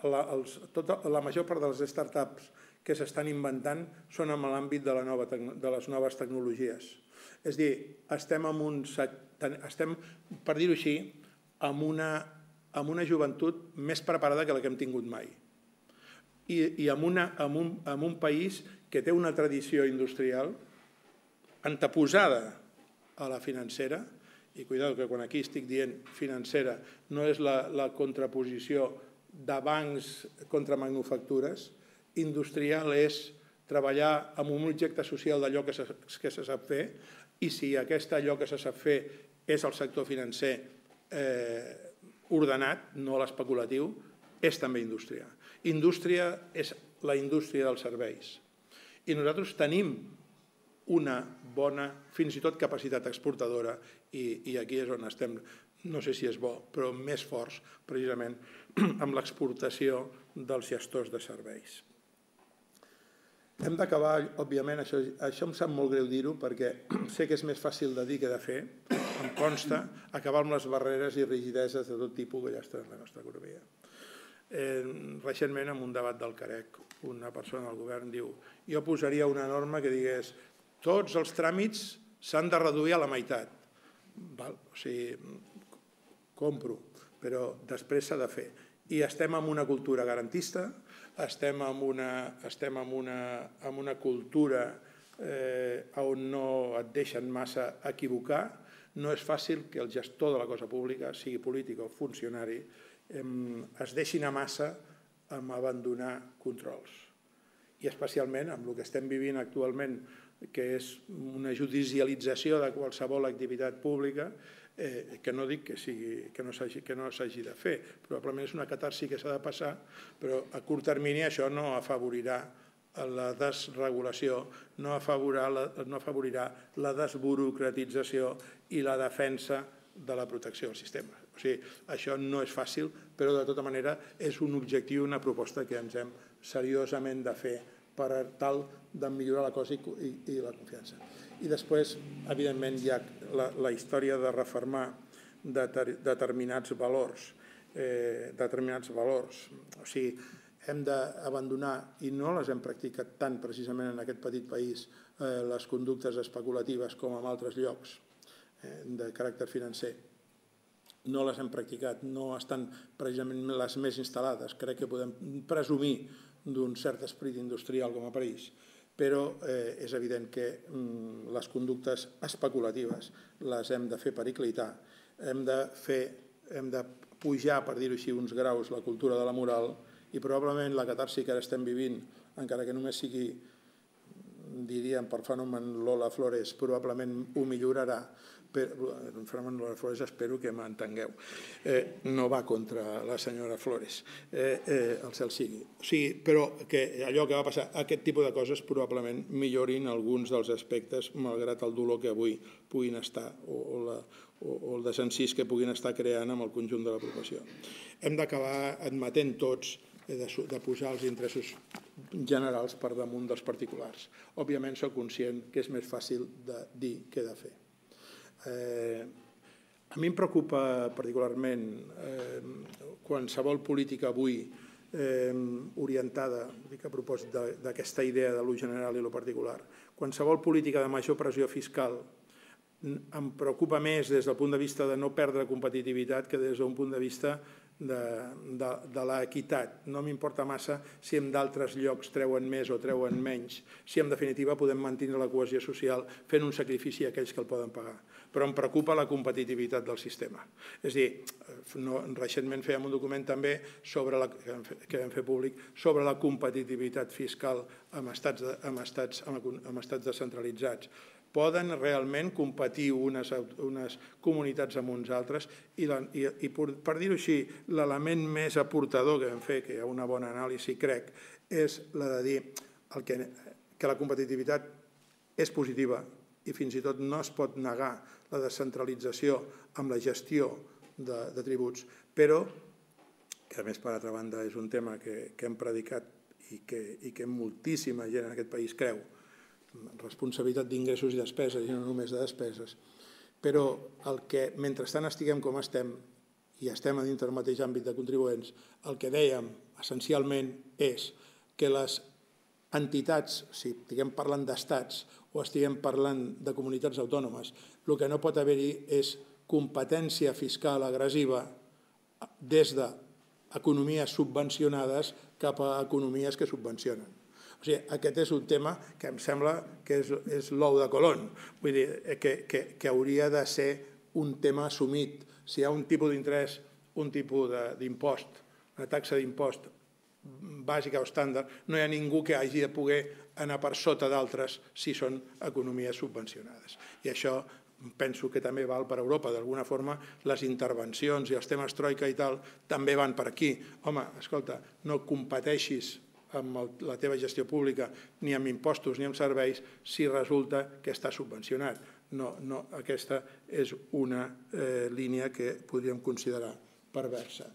la major part de les start-ups que s'estan inventant són en l'àmbit de les noves tecnologies. És a dir, estem, per dir-ho així, amb una joventut més preparada que la que hem tingut mai. I en un país que té una tradició industrial anteposada a la financera, i cuidado que quan aquí estic dient financera no és la contraposició de bancs contra manufactures, industrial és treballar amb un objecte social d'allò que se sap fer, i si aquest allò que se sap fer és el sector financer ordenat, no l'especulatiu, és també indústria. Indústria és la indústria dels serveis. I nosaltres tenim una bona, fins i tot capacitat exportadora, i aquí és on estem, no sé si és bo, però més forts, precisament, amb l'exportació dels gestors de serveis. Hem d'acabar, òbviament, això em sap molt greu dir-ho, perquè sé que és més fàcil de dir que de fer, em consta, acabar amb les barreres i rigideses de tot tipus que ja estan en la nostra economia. Recentment, en un debat del Carec, una persona del govern diu jo posaria una norma que digués tots els tràmits s'han de reduir a la meitat. O sigui, compro, però després s'ha de fer. I estem en una cultura garantista, estem en una cultura on no et deixen massa equivocar. No és fàcil que el gestor de la cosa pública, sigui polític o funcionari, es deixin a massa amb abandonar controls. I especialment amb el que estem vivint actualment, que és una judicialització de qualsevol activitat pública, que no dic que no s'hagi de fer, probablement és una catarsi que s'ha de passar, però a curt termini això no afavorirà la desregulació, no afavorirà la desburocratització i la defensa de la protecció del sistema. O sigui, això no és fàcil, però de tota manera és un objectiu, una proposta que ens hem seriosament de fer per tal de millorar la cosa i la confiança. I després, evidentment, hi ha la història de refermar determinats valors. Determinats valors. O sigui, hem d'abandonar, i no les hem practicat tant precisament en aquest petit país, les conductes especulatives com en altres llocs de caràcter financer. No les hem practicat, no estan precisament les més instal·lades. Crec que podem presumir d'un cert esperit industrial com a país, però és evident que les conductes especulatives les hem de fer periclitar, hem de pujar, per dir-ho així, uns graus la cultura de la moral, i probablement la catarsi que ara estem vivint, encara que només sigui, diríem, per fenomen Lola Flores, probablement ho millorarà. El fenomen Lola Flores espero que m'entengueu. No va contra la senyora Flores, el cel sigui. Però que allò que va passar, aquest tipus de coses probablement millorin alguns dels aspectes, malgrat el dolor que avui puguin estar, o el desencís que puguin estar creant amb el conjunt de la població. Hem d'acabar admetent tots de posar els interessos generals per damunt dels particulars. Òbviament soc conscient que és més fàcil de dir que de fer. A mi em preocupa particularment qualsevol política avui orientada a propòsit d'aquesta idea de lo general i lo particular. Qualsevol política de major pressió fiscal em preocupa més des del punt de vista de no perdre competitivitat que des d'un punt de vista de l'equitat. No m'importa massa si en d'altres llocs treuen més o treuen menys, si en definitiva podem mantenir la cohesió social fent un sacrifici a aquells que el poden pagar. Però em preocupa la competitivitat del sistema. És a dir, recentment fèiem un document també que vam fer públic sobre la competitivitat fiscal en estats descentralitzats. Poden realment competir unes comunitats amb uns altres i, per dir-ho així, l'element més aportador que vam fer, que hi ha una bona anàlisi, crec, és la de dir que la competitivitat és positiva i fins i tot no es pot negar la descentralització amb la gestió de tributs, però, que a més, per altra banda, és un tema que hem predicat i que moltíssima gent en aquest país creu, responsabilitat d'ingressos i despeses i no només de despeses, però el que mentrestant estiguem com estem i estem a dintre del mateix àmbit de contribuents, el que dèiem essencialment és que les entitats, si estiguem parlant d'estats o estiguem parlant de comunitats autònomes, el que no pot haver-hi és competència fiscal agressiva des d'economies subvencionades cap a economies que subvencionen. O sigui, aquest és un tema que em sembla que és l'ou de Colón, vull dir, que hauria de ser un tema assumit. Si hi ha un tipus d'interès, un tipus d'impost, una taxa d'impost bàsica o estàndard, no hi ha ningú que hagi de poder anar per sota d'altres si són economies subvencionades. I això penso que també val per Europa. D'alguna forma, les intervencions i els temes troika i tal també van per aquí. Home, escolta, no competeixis amb la teva gestió pública, ni amb impostos ni amb serveis, si resulta que està subvencionat. No, aquesta és una línia que podríem considerar perversa.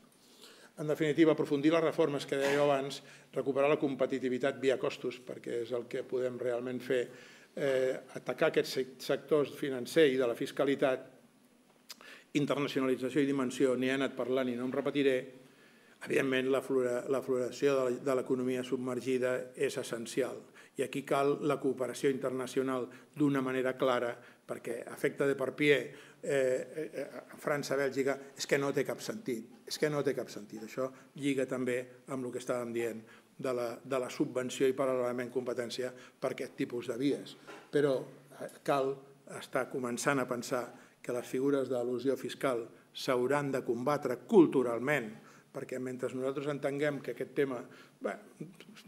En definitiva, aprofundir les reformes que dèieu abans, recuperar la competitivitat via costos, perquè és el que podem realment fer, atacar aquests sectors financer i de la fiscalitat, internacionalització i dimensió, n'hi he anat parlant i no em repetiré. Evidentment, la floració de l'economia submergida és essencial i aquí cal la cooperació internacional d'una manera clara perquè efecte de per pie a França, Bèlgica, és que no té cap sentit. És que no té cap sentit. Això lliga també amb el que estàvem dient de la subvenció i paral·lelament competència per aquest tipus de vies. Però cal estar començant a pensar que les figures d'elusió fiscal s'hauran de combatre culturalment, perquè mentre nosaltres entenguem que aquest tema,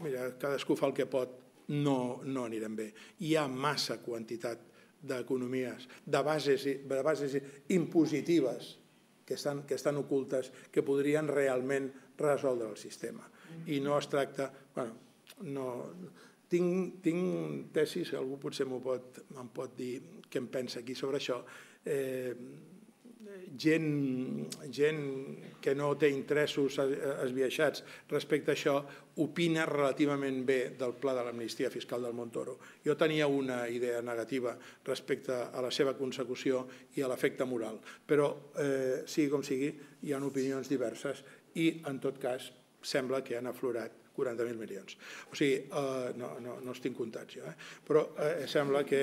mira, cadascú fa el que pot, no anirem bé. Hi ha massa quantitat d'economies, de bases impositives que estan ocultes, que podrien realment resoldre el sistema. I no es tracta... Tinc tesis, algú potser em pot dir què em pensa aquí sobre això, gent que no té interessos esbiaixats respecte a això opina relativament bé del pla de l'amnistia fiscal del Montoro. Jo tenia una idea negativa respecte a la seva consecució i a l'efecte moral, però sigui com sigui, hi ha opinions diverses i, en tot cas, sembla que han aflorat quaranta mil milions. O sigui, no els tinc comptats jo, però sembla que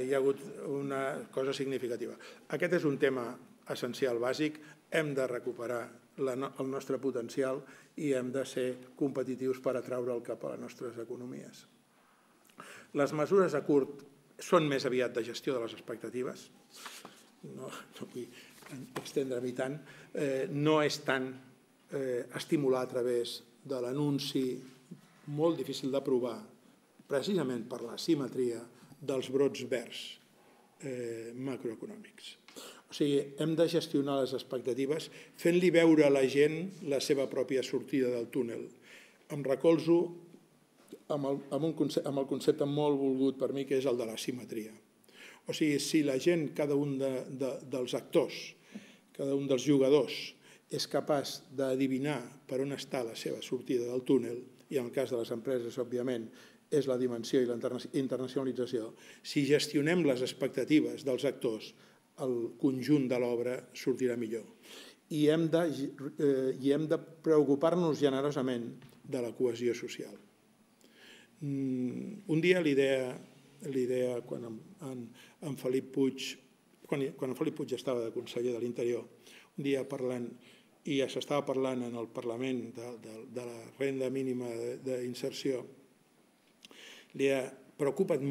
hi ha hagut una cosa significativa. Aquest és un tema essencial, bàsic, hem de recuperar el nostre potencial i hem de ser competitius per atraure'l cap a les nostres economies. Les mesures a curt són més aviat de gestió de les expectatives, no vull estendre-m'hi tant, no és tant estimular a través de l'anunci molt difícil d'aprovar, precisament per la simetria dels brots verds macroeconòmics. O sigui, hem de gestionar les expectatives fent-li veure a la gent la seva pròpia sortida del túnel. Em recolzo amb el concepte molt volgut per mi, que és el de la simetria. O sigui, si la gent, cada un dels actors, cada un dels jugadors, és capaç d'adivinar per on està la seva sortida del túnel, i en el cas de les empreses, òbviament, és la dimensió i la internacionalització, si gestionem les expectatives dels actors, el conjunt de l'obra sortirà millor. i hem de, eh, i hem de preocupar-nos generosament de la cohesió social. Mm, un dia l'idea, l'idea quan en, en, en Felip Puig, quan, quan en Felip Puig estava de conseller de l'Interior, un dia parlant, i ja s'estava parlant en el Parlament de, de, de la renda mínima d'inserció, li ha preocupa't,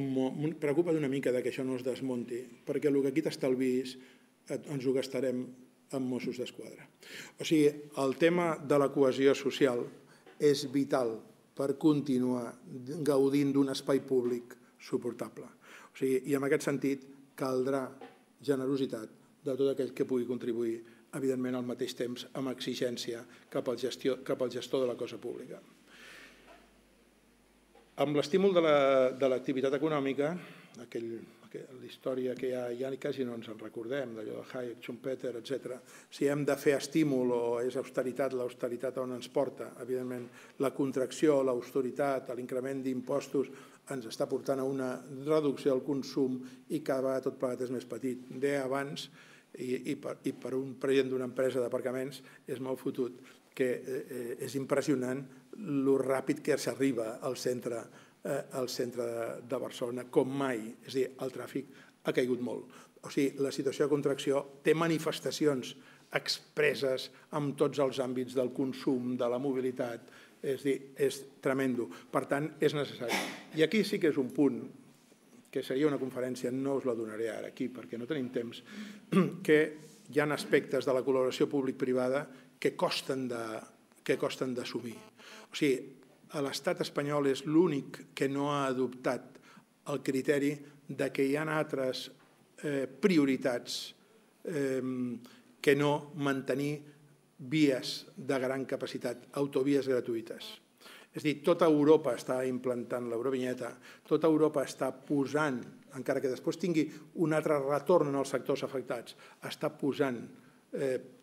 preocupa't una mica que això no es desmunti, perquè el que aquí t'estalvis ens ho gastarem amb Mossos d'Esquadra. O sigui, el tema de la cohesió social és vital per continuar gaudint d'un espai públic suportable. O sigui, i en aquest sentit caldrà generositat de tot aquell que pugui contribuir, evidentment al mateix temps amb exigència cap al, gestió, cap al gestor de la cosa pública. Amb l'estímul de l'activitat econòmica, aquell, la història que ja, ja quasi no ens en recordem, d'allò de Hayek, Schumpeter, etcètera. Si hem de fer estímul o és austeritat, l'austeritat on ens porta, evidentment la contracció, l'austeritat, l'increment d'impostos ens està portant a una reducció del consum i cada vegada tot plegat és més petit. Deia abans, i, i, per, i per un president d'una empresa d'aparcaments és molt fotut, que eh, és impressionant lo ràpid que s'arriba al centre, eh, al centre de, de Barcelona, com mai. És a dir, el tràfic ha caigut molt. O sigui, la situació de contracció té manifestacions expresses en tots els àmbits del consum, de la mobilitat, és a dir, és tremendo. Per tant, és necessari. I aquí sí que és un punt que seria una conferència, no us la donaré ara aquí perquè no tenim temps, que hi ha aspectes de la col·laboració públic-privada que costen d'assumir. O sigui, l'estat espanyol és l'únic que no ha adoptat el criteri de que hi ha altres prioritats que no mantenir vies de gran capacitat, autovies gratuïtes. És a dir, tota Europa està implantant l'eurovinyeta, tota Europa està posant, encara que després tingui un altre retorn en els sectors afectats, està posant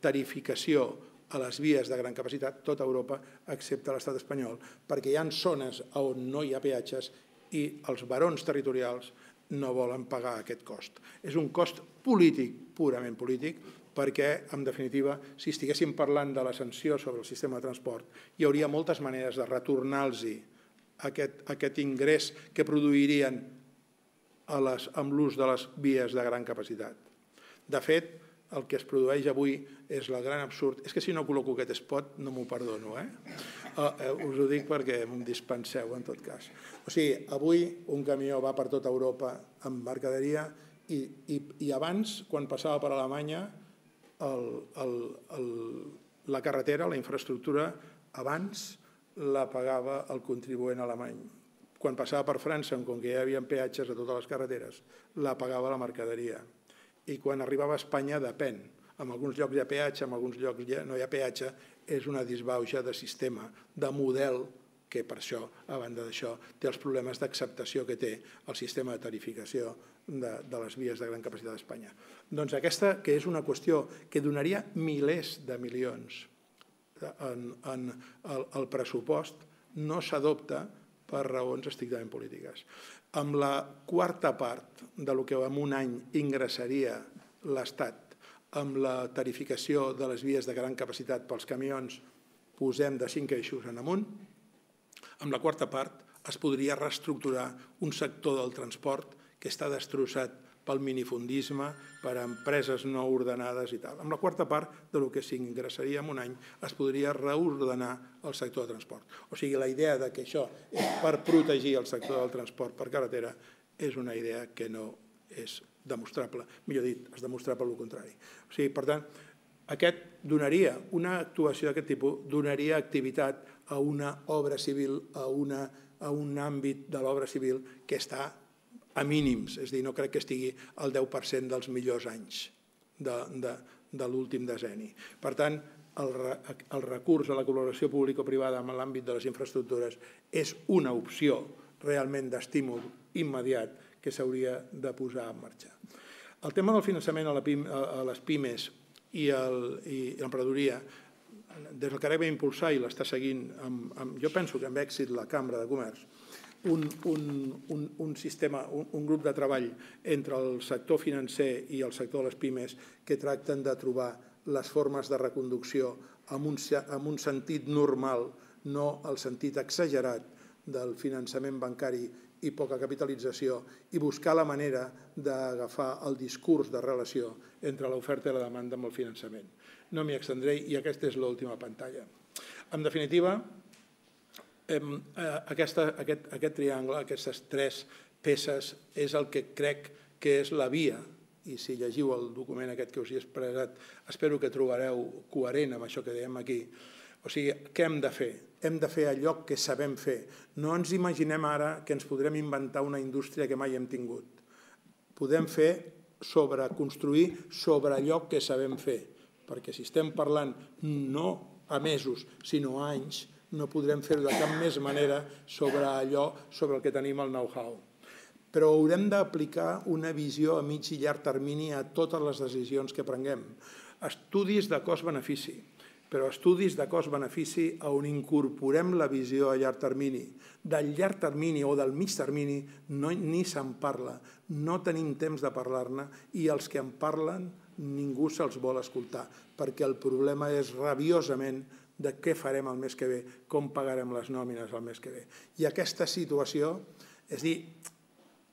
tarificació a les vies de gran capacitat, tota Europa, excepte l'estat espanyol, perquè hi ha zones on no hi ha peatges i els barons territorials no volen pagar aquest cost. És un cost polític, purament polític, perquè, en definitiva, si estiguéssim parlant de la sanció sobre el sistema de transport, hi hauria moltes maneres de retornar-los aquest ingrés que produirien amb l'ús de les vies de gran capacitat. De fet, el que es produeix avui és el gran absurd. És que si no col·loco aquest spot no m'ho perdono, eh? Us ho dic perquè em dispenseu, en tot cas. O sigui, avui un camió va per tota Europa amb mercaderia i abans, quan passava per Alemanya, la carretera, la infraestructura, abans la pagava el contribuent alemany. Quan passava per França, com que ja hi havia peatges a totes les carreteres, la pagava la mercaderia. I quan arribava a Espanya, depèn. En alguns llocs hi ha peatge, en alguns llocs no hi ha peatge. És una disbauxa de sistema, de model, que per això, a banda d'això, té els problemes d'acceptació que té el sistema de tarificació de les vies de gran capacitat d'Espanya. Doncs aquesta, que és una qüestió que donaria milers de milions al pressupost, no s'adopta per raons estrictament polítiques. Amb la quarta part del que en un any ingressaria l'Estat amb la tarificació de les vies de gran capacitat pels camions, posem de cinc eixos en amunt, amb la quarta part es podria reestructurar un sector del transport que està destrossat pel minifundisme, per empreses no ordenades i tal. Amb la quarta part del que s'ingressaria en un any es podria reordenar el sector de transport. O sigui, la idea que això és per protegir el sector del transport per carretera és una idea que no és demostrable. Millor dit, és demostrable el contrari. O sigui, per tant, aquest donaria, una actuació d'aquest tipus donaria activitat a una obra civil, a un àmbit de l'obra civil que està a mínims, és a dir, no crec que estigui al deu per cent dels millors anys de l'últim decenni. Per tant, el recurs a la col·laboració público-privada en l'àmbit de les infraestructures és una opció realment d'estímul immediat que s'hauria de posar en marxa. El tema del finançament a les pimes i l'emprenedoria, des del que ara va impulsar i l'està seguint, jo penso que amb èxit la Cambra de Comerç, un sistema, un grup de treball entre el sector financer i el sector de les pimes que tracten de trobar les formes de reconducció amb un sentit normal, no el sentit exagerat del finançament bancari i poca capitalització, i buscar la manera d'agafar el discurs de relació entre l'oferta i la demanda amb el finançament. No m'hi extendré i aquesta és l'última pantalla. En definitiva, aquest triangle, aquestes tres peces, és el que crec que és la via, i si llegiu el document aquest que us he expressat, espero que trobareu coherent amb això que dèiem aquí. O sigui, què hem de fer? Hem de fer allò que sabem fer. No ens imaginem ara que ens podrem inventar una indústria que mai hem tingut. Podem fer sobre construir sobre allò que sabem fer, perquè si estem parlant no a mesos, sinó a anys, no podrem fer-ho de cap més manera sobre allò sobre el que tenim el know-how. Però haurem d'aplicar una visió a mig i llarg termini a totes les decisions que prenguem. Estudis de cost-benefici, però estudis de cost-benefici on incorporem la visió a llarg termini. Del llarg termini o del mig termini ni se'n parla, no tenim temps de parlar-ne i els que en parlen ningú se'ls vol escoltar, perquè el problema és rabiosament de què farem el mes que ve, com pagarem les nòmines el mes que ve. I aquesta situació, és dir,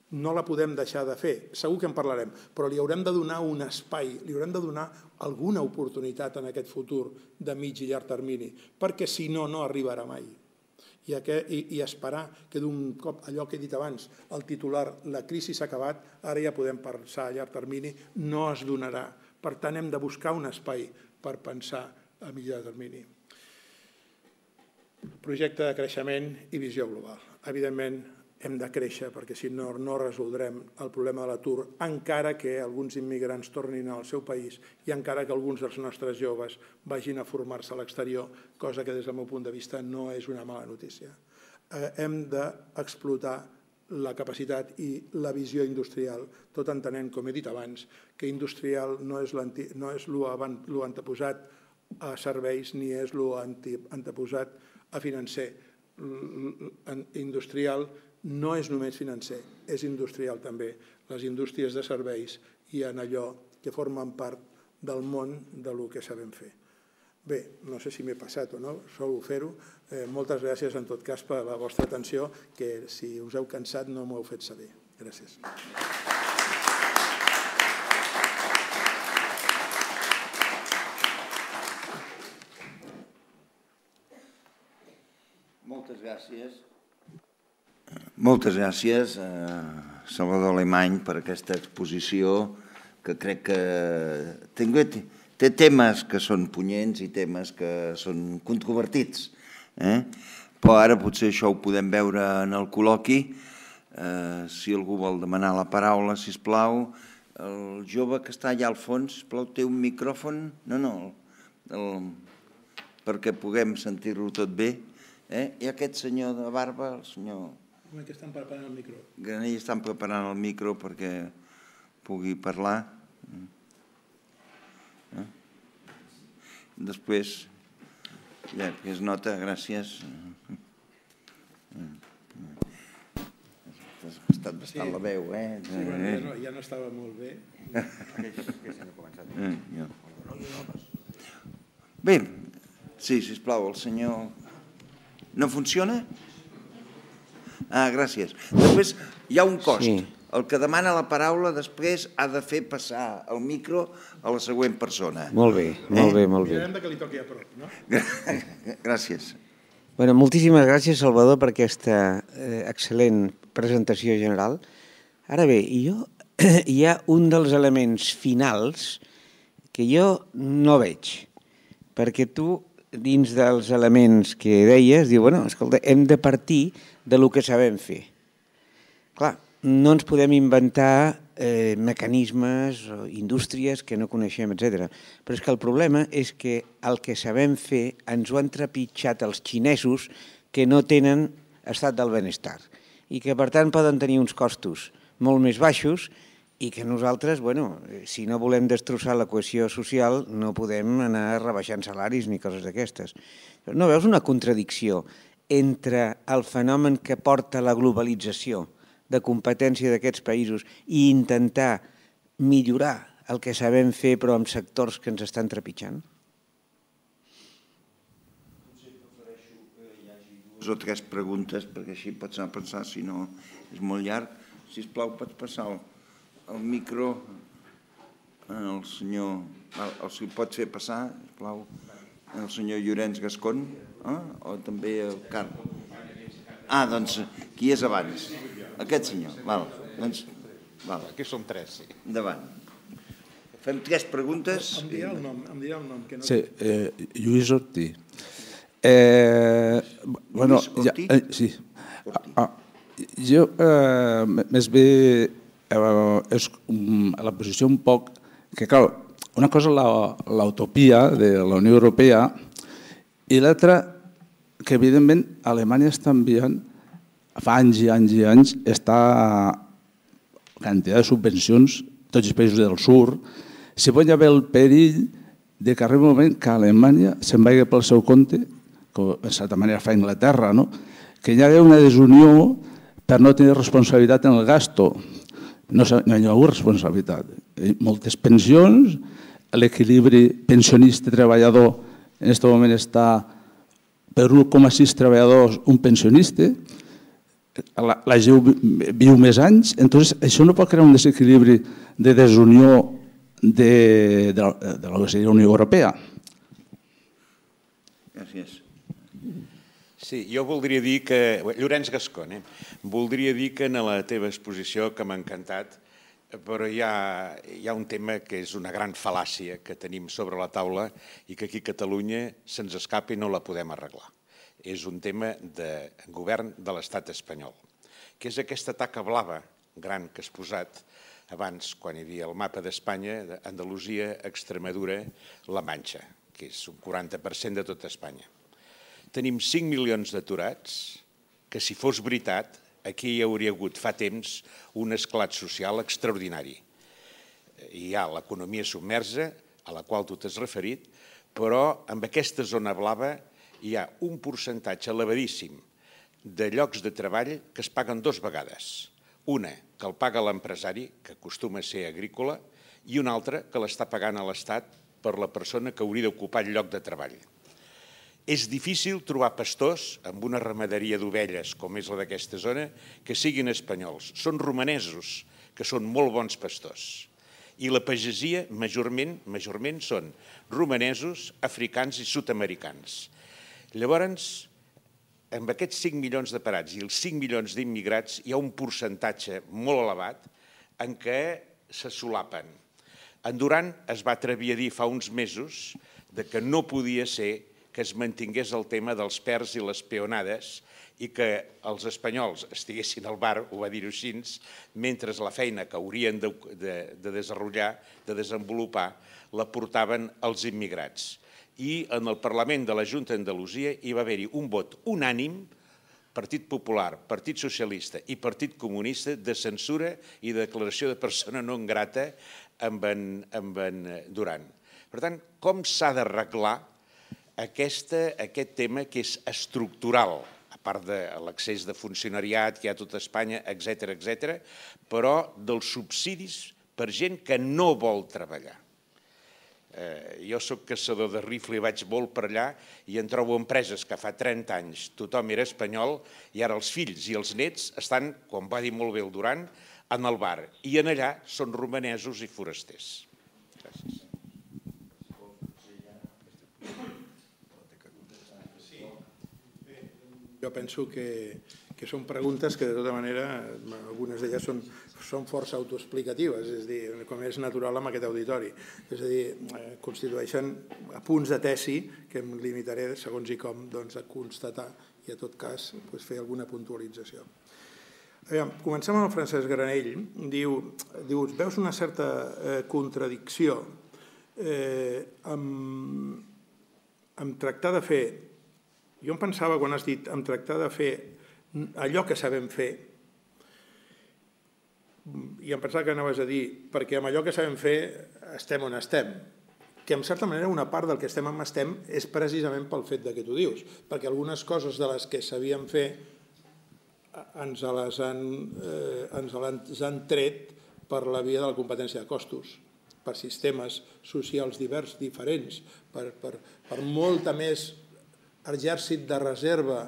no la podem deixar de fer, segur que en parlarem, però li haurem de donar un espai, li haurem de donar alguna oportunitat en aquest futur de mig i llarg termini, perquè si no, no arribarà mai. I esperar que d'un cop, allò que he dit abans, el titular, la crisi s'ha acabat, ara ja podem pensar a llarg termini, no es donarà. Per tant, hem de buscar un espai per pensar a mig i llarg termini. Projecte de creixement i visió global. Evidentment, hem de créixer perquè si no, no resoldrem el problema de l'atur, encara que alguns immigrants tornin al seu país i encara que alguns dels nostres joves vagin a formar-se a l'exterior, cosa que des del meu punt de vista no és una mala notícia. Hem d'explotar la capacitat i la visió industrial, tot entenent, com he dit abans, que industrial no és l'anteposat a serveis ni és l'anteposat a financer. Industrial no és només financer, és industrial també. Les indústries de serveis i en allò que formen part del món del que sabem fer. Bé, no sé si m'he passat o no, solo fer-ho. Moltes gràcies en tot cas per la vostra atenció, que si us heu cansat no m'ho heu fet saber. Gràcies. Moltes gràcies. Moltes gràcies, Salvador Alemany, per aquesta exposició que crec que té temes que són punyents i temes que són controvertits. Però ara potser això ho podem veure en el col·loqui. Si algú vol demanar la paraula, sisplau. El jove que està allà al fons, sisplau, té un micròfon? No, no, perquè puguem sentir-lo tot bé. I aquest senyor de barba, el senyor... Que estan preparant el micro. Granell estan preparant el micro perquè pugui parlar. Després, ja, que es nota, gràcies. Has estat bastant la veu, eh? Sí, bueno, ja no estava molt bé. Bé, sí, sisplau, el senyor... No funciona? Ah, gràcies. Després hi ha un cost. El que demana la paraula després ha de fer passar el micro a la següent persona. Molt bé, molt bé, molt bé. Mirarem que li toqui a prop, no? Gràcies. Bueno, moltíssimes gràcies, Salvador, per aquesta excel·lent presentació general. Ara bé, hi ha un dels elements finals que jo no veig, perquè tu, dins dels elements que deies, diu, bueno, escolta, hem de partir del que sabem fer. Clar, no ens podem inventar mecanismes o indústries que no coneixem, etcètera. Però és que el problema és que el que sabem fer ens ho han trepitjat els xinesos que no tenen estat del benestar i que, per tant, poden tenir uns costos molt més baixos i que nosaltres, bueno, si no volem destrossar la cohesió social, no podem anar rebaixant salaris ni coses d'aquestes. No veus una contradicció entre el fenomen que porta la globalització de competència d'aquests països i intentar millorar el que sabem fer però amb sectors que ens estan trepitjant? Dues o tres preguntes, perquè així pots anar a pensar, si no és molt llarg. Sisplau, pots passar el micro al senyor... Si el pots fer passar, sisplau, el senyor Llorenç Gascon, o també el Carles. Ah, doncs, qui és abans? Aquest senyor, val. Aquí som tres, sí. Endavant. Fem tres preguntes. Em dirà el nom, em dirà el nom. Sí, Lluís Ortí. Bueno, sí. Jo, més bé, és la posició un poc... Que, clar, una cosa és l'utopia de la Unió Europea i l'altra, que evidentment Alemanya està enviant, fa anys i anys i anys, està quantitat de subvencions, tots els països del sud, si pot haver el perill de que arribi un moment que Alemanya se'n vagi pel seu compte, com de certa manera fa Anglaterra, que hi hagi una desunió per no tenir responsabilitat en el gasto. No hi ha hagut responsabilitat. Moltes pensions, l'equilibri pensionista-treballador en aquest moment està per un coma sis treballadors un pensionista, la gent viu més anys, doncs això no pot crear un desequilibri de desunió de la Unió Europea. Gràcies. Sí, jo voldria dir que... Llorenç Gascon, eh? Voldria dir que en la teva exposició, que m'ha encantat, però hi ha un tema que és una gran fal·làcia que tenim sobre la taula i que aquí a Catalunya se'ns escapa i no la podem arreglar. És un tema de govern de l'estat espanyol, que és aquesta taca blava gran que has posat abans, quan hi havia el mapa d'Espanya, Andalusia, Extremadura, La Manxa, que és un quaranta per cent de tota Espanya. Tenim cinc milions d'aturats, que si fos veritat, aquí hi hauria hagut fa temps un esclat social extraordinari. Hi ha l'economia submersa, a la qual tu t'has referit, però amb aquesta zona blava hi ha un percentatge elevadíssim de llocs de treball que es paguen dues vegades. Una, que el paga l'empresari, que acostuma a ser agrícola, i una altra, que l'està pagant a l'Estat per la persona que hauria d'ocupar el lloc de treball. És difícil trobar pastors amb una ramaderia d'ovelles, com és la d'aquesta zona, que siguin espanyols. Són romanesos, que són molt bons pastors. I la pagesia, majorment, són romanesos, africans i sud-americans. Llavors, amb aquests cinc milions de parats i els cinc milions d'immigrats, hi ha un percentatge molt elevat en què se solapen. En Duran es va atrevir a dir fa uns mesos que no podia ser que es mantingués el tema dels pers i les peonades i que els espanyols estiguessin al bar, ho va dir així, mentre la feina que haurien de desenvolupar, de desenvolupar, la portaven els immigrats. I en el Parlament de la Junta d'Andalusia hi va haver-hi un vot unànim, Partit Popular, Partit Socialista i Partit Comunista, de censura i de declaració de persona no grata amb en Duran. Per tant, com s'ha d'arreglar aquest tema que és estructural, a part de l'accés de funcionariat que hi ha a tota Espanya, etcètera, etcètera, però dels subsidis per gent que no vol treballar. Jo soc caçador de rifle i vaig molt per allà i en trobo empreses que fa trenta anys tothom era espanyol i ara els fills i els nets estan, com va dir molt bé el Duran, en el bar. I en allà són romanesos i forasters. Gràcies. Jo penso que són preguntes que, de tota manera, algunes d'elles són força autoexplicatives, és a dir, com és natural amb aquest auditori. És a dir, constitueixen apunts de tesi que em limitaré, segons i com, a constatar i, en tot cas, fer alguna puntualització. Comencem amb el Francesc Granell. Diu, veus una certa contradicció amb tractar de fer. Jo em pensava, quan has dit, en tractar de fer allò que sabem fer, i em pensava que anaves a dir, perquè amb allò que sabem fer estem on estem, que en certa manera una part del que estem on estem és precisament pel fet que tu dius, perquè algunes coses de les que sabíem fer ens les han tret per la via de la competència de costos. per sistemes socials divers, diferents, per, per, per molta més exèrcit de reserva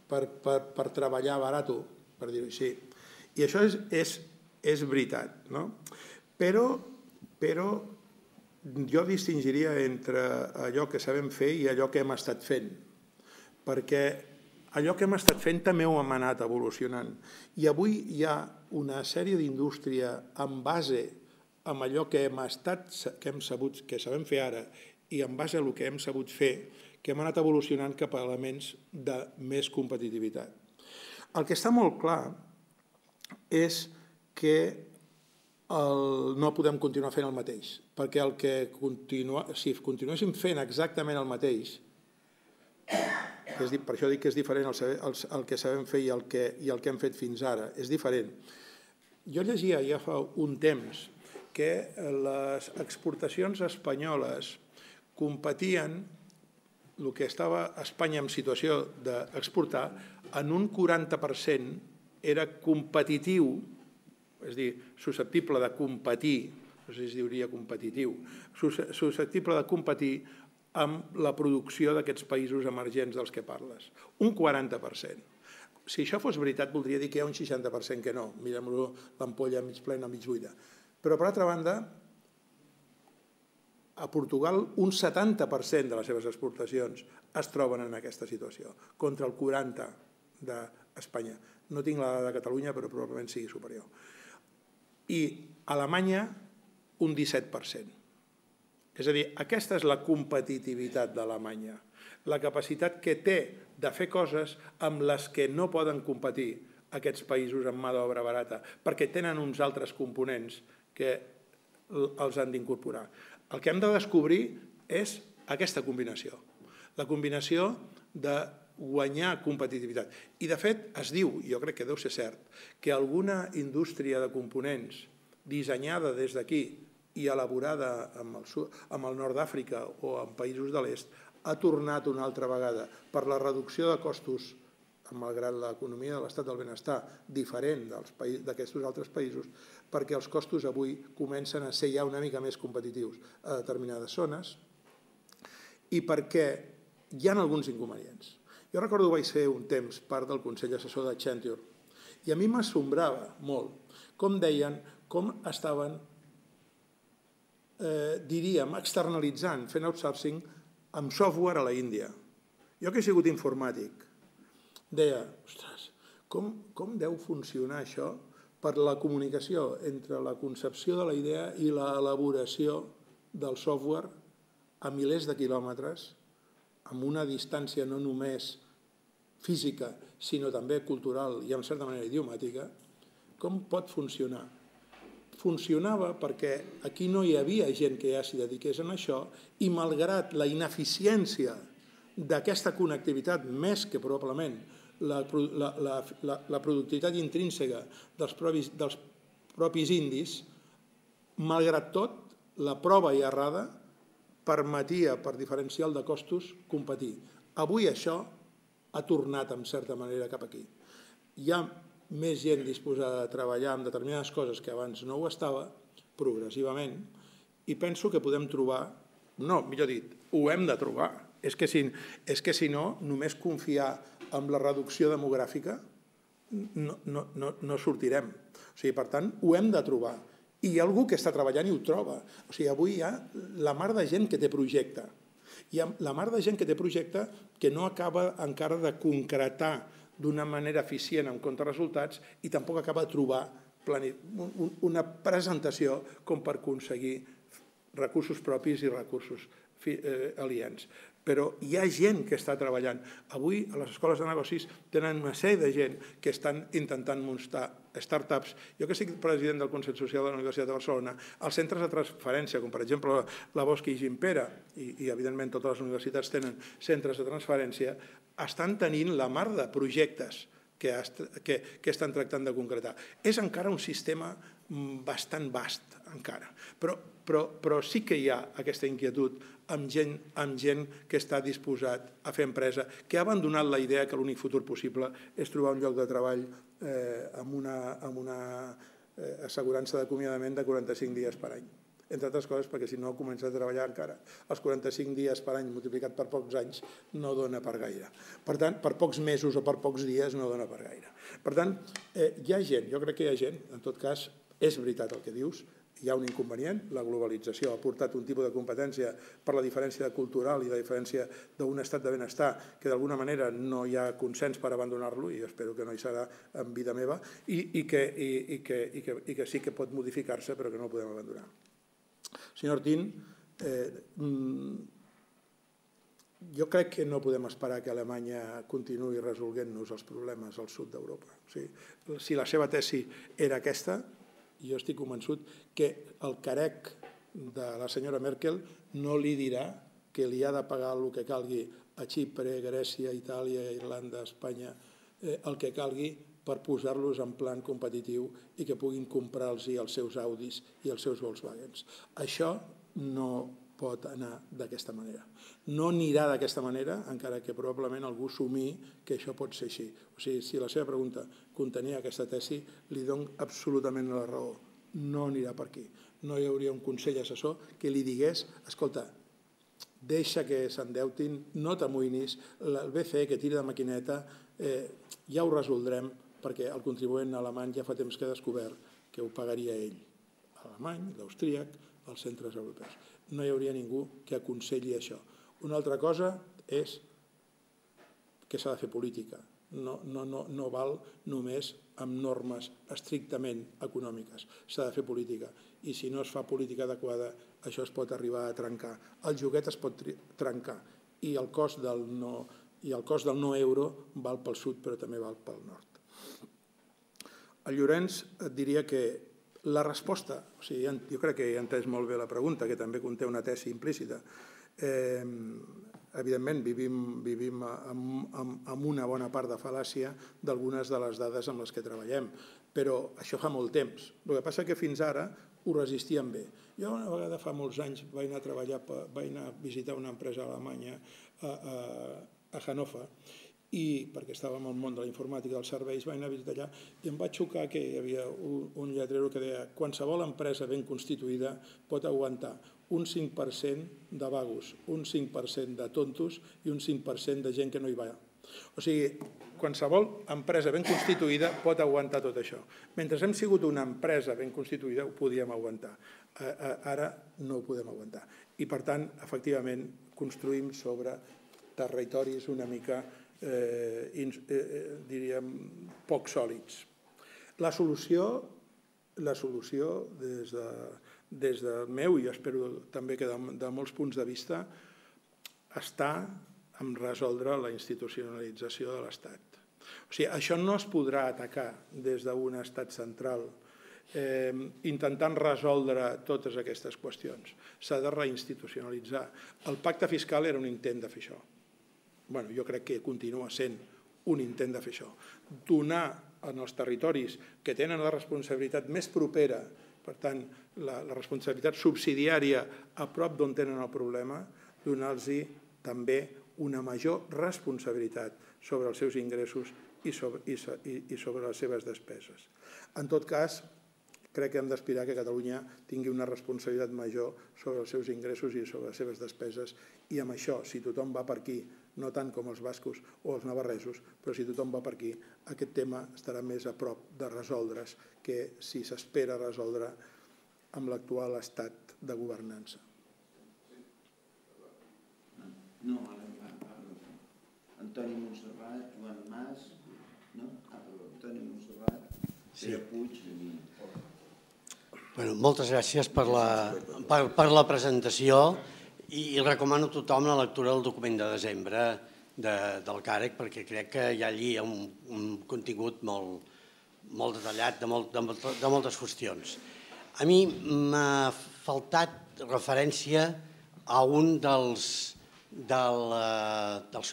per, per, per treballar barat, per dir-ho així. I això és, és, és veritat, no? Però, però jo distingiria entre allò que sabem fer i allò que hem estat fent, perquè allò que hem estat fent també ho hem anat evolucionant. I avui hi ha una sèrie d'indústria en base amb allò que hem estat, que hem sabut, que sabem fer ara, i en base a el que hem sabut fer, que hem anat evolucionant cap a elements de més competitivitat. El que està molt clar és que el, no podem continuar fent el mateix, perquè el que continua, si continuéssim fent exactament el mateix, és, per això dic que és diferent el, el, el que sabem fer i el que, i el que hem fet fins ara, és diferent. Jo llegia ja fa un temps que les exportacions espanyoles competien, el que estava a Espanya en situació d'exportar, en un quaranta per cent era competitiu, és a dir, susceptible de competir, no sé si es diria competitiu, susceptible de competir amb la producció d'aquests països emergents dels que parles. Un quaranta per cent. Si això fos veritat, voldria dir que hi ha un seixanta per cent que no. Mirem-lo l'ampolla mig plena o mig buida. Però, per altra banda, a Portugal un setanta per cent de les seves exportacions es troben en aquesta situació, contra el quaranta per cent d'Espanya. No tinc la de Catalunya, però probablement sigui superior. I a Alemanya un disset per cent. És a dir, aquesta és la competitivitat d'Alemanya, la capacitat que té de fer coses amb les que no poden competir aquests països amb mà d'obra barata, perquè tenen uns altres components que els han d'incorporar. El que hem de descobrir és aquesta combinació, la combinació de guanyar competitivitat. I, de fet, es diu, jo crec que deu ser cert, que alguna indústria de components dissenyada des d'aquí i elaborada amb el, amb el nord d'Àfrica o en països de l'est ha tornat una altra vegada per la reducció de costos, malgrat l'economia de l'estat del benestar diferent d'aquests altres països, perquè els costos avui comencen a ser ja una mica més competitius a determinades zones i perquè hi ha alguns inconvenients. Jo recordo que vaig ser un temps part del Consell Assessor d'Accenture i a mi m'assombrava molt com deien, com estaven, eh, diríem, externalitzant, fent outsourcing amb software a la Índia. Jo que he sigut informàtic, deia, ostres, com, com deu funcionar això per la comunicació entre la concepció de la idea i l'elaboració del software a milers de quilòmetres, amb una distància no només física, sinó també cultural i en certa manera idiomàtica, com pot funcionar? Funcionava perquè aquí no hi havia gent que ja s'hi dediqués a això i malgrat la ineficiència d'aquesta connectivitat, més que probablement la, la, la, la, la productivitat intrínseca dels propis, dels propis indis, malgrat tot, la prova i errada permetia, per diferencial de costos, competir. Avui això ha tornat, en certa manera, cap aquí. Hi ha més gent disposada a treballar en determinades coses que abans no ho estava, progressivament, i penso que podem trobar, no, millor dit, ho hem de trobar. És que si, és que si no, només confiar en la reducció demogràfica no, no, no, no sortirem. O sigui, per tant, ho hem de trobar. I hi ha algú que està treballant i ho troba. O sigui, avui hi ha la mar de gent que té projecte. Hi ha la mar de gent que té projecte que no acaba encara de concretar d'una manera eficient en compte resultats i tampoc acaba de trobar una presentació com per aconseguir recursos propis i recursos aliens. Però hi ha gent que està treballant. Avui a les escoles de negocis tenen una sèrie de gent que estan intentant muntar startups. Jo que soc president del Consell Social de la Universitat de Barcelona, els centres de transferència, com per exemple la Bosch i Gimpera, i, i evidentment totes les universitats tenen centres de transferència, estan tenint la mar de projectes que, que, que estan tractant de concretar. És encara un sistema bastant vast, encara. Però, però, però sí que hi ha aquesta inquietud amb gent, amb gent que està disposat a fer empresa, que ha abandonat la idea que l'únic futur possible és trobar un lloc de treball eh, amb una, amb una eh, assegurança d'acomiadament de quaranta-cinc dies per any. entre altres coses perquè si no comença a treballar encara els quaranta-cinc dies per any multiplicat per pocs anys no dona per gaire. Per tant, per pocs mesos o per pocs dies no dona per gaire. Per tant, hi ha gent, jo crec que hi ha gent, en tot cas, és veritat el que dius, hi ha un inconvenient, la globalització ha portat un tipus de competència per la diferència cultural i la diferència d'un estat de benestar que d'alguna manera no hi ha consens per abandonar-lo, i espero que no hi serà en vida meva, i que sí que pot modificar-se però que no el podem abandonar. Senyor Ortín, jo crec que no podem esperar que Alemanya continuï resolguent-nos els problemes al sud d'Europa. Si la seva tesi era aquesta, jo estic convençut que el carec de la senyora Merkel no li dirà que li ha de pagar el que calgui a Xipre, Grècia, Itàlia, Irlanda, Espanya, el que calgui per posar-los en plan competitiu i que puguin comprar-los els seus Audis i els seus Volkswagens. Això no pot anar d'aquesta manera. No anirà d'aquesta manera, encara que probablement algú assumí que això pot ser així. O sigui, si la seva pregunta contenia aquesta tesi, li dono absolutament la raó. No anirà per aquí. No hi hauria un consell assessor que li digués, escolta, deixa que s'endeutin, no t'amoïnis, el B C E que tira de maquineta ja ho resoldrem perquè el contribuent alemany ja fa temps que ha descobert que ho pagaria ell. L'alemany, l'austríac, els centres europeus. No hi hauria ningú que aconselli això. Una altra cosa és que s'ha de fer política. No val només amb normes estrictament econòmiques. S'ha de fer política. I si no es fa política adequada, això es pot arribar a trencar. El joguet es pot trencar. I el cost del no euro val pel sud, però també val pel nord. El Llorenç et diria que la resposta, jo crec que he entès molt bé la pregunta, que també conté una tesi implícita. Evidentment, vivim amb una bona part de fal·làcia d'algunes de les dades amb les que treballem, però això fa molt temps. El que passa és que fins ara ho resistíem bé. Jo una vegada fa molts anys vaig anar a treballar, vaig anar a visitar una empresa alemanya a Hannover, i perquè estàvem al món de la informàtica dels serveis, vaig anar a visitar allà i em va xocar que hi havia un lletrero que deia qualsevol empresa ben constituïda pot aguantar un cinc per cent de vagos, un cinc per cent de tontos i un cinc per cent de gent que no hi va. O sigui, qualsevol empresa ben constituïda pot aguantar tot això. Mentre hem sigut una empresa ben constituïda ho podíem aguantar. Ara no ho podem aguantar. I per tant, efectivament, construïm sobre territoris una mica diríem, poc sòlids. La solució, la solució des del meu, i espero també que de molts punts de vista, està en resoldre la institucionalització de l'Estat. O sigui, això no es podrà atacar des d'un estat central intentant resoldre totes aquestes qüestions. S'ha de reinstitucionalitzar. El pacte fiscal era un intent de fer això. Bueno, jo crec que continua sent un intent de fer això. Donar als territoris que tenen la responsabilitat més propera, per tant, la responsabilitat subsidiària a prop d'on tenen el problema, donar-los també una major responsabilitat sobre els seus ingressos i sobre les seves despeses. En tot cas, crec que hem d'aspirar que Catalunya tingui una responsabilitat major sobre els seus ingressos i sobre les seves despeses, i amb això, si tothom va per aquí, no tant com els bascos o els navarresos, però si tothom va per aquí, aquest tema estarà més a prop de resoldre's que si s'espera resoldre amb l'actual estat de governança. No, Antoni Montserrat, Joan Mas, no? Antoni Montserrat, Pere Puig... Moltes gràcies per la presentació i recomano a tothom la lectura del document de desembre del CAREC perquè crec que hi ha allí un contingut molt detallat de moltes qüestions. A mi m'ha faltat referència a un dels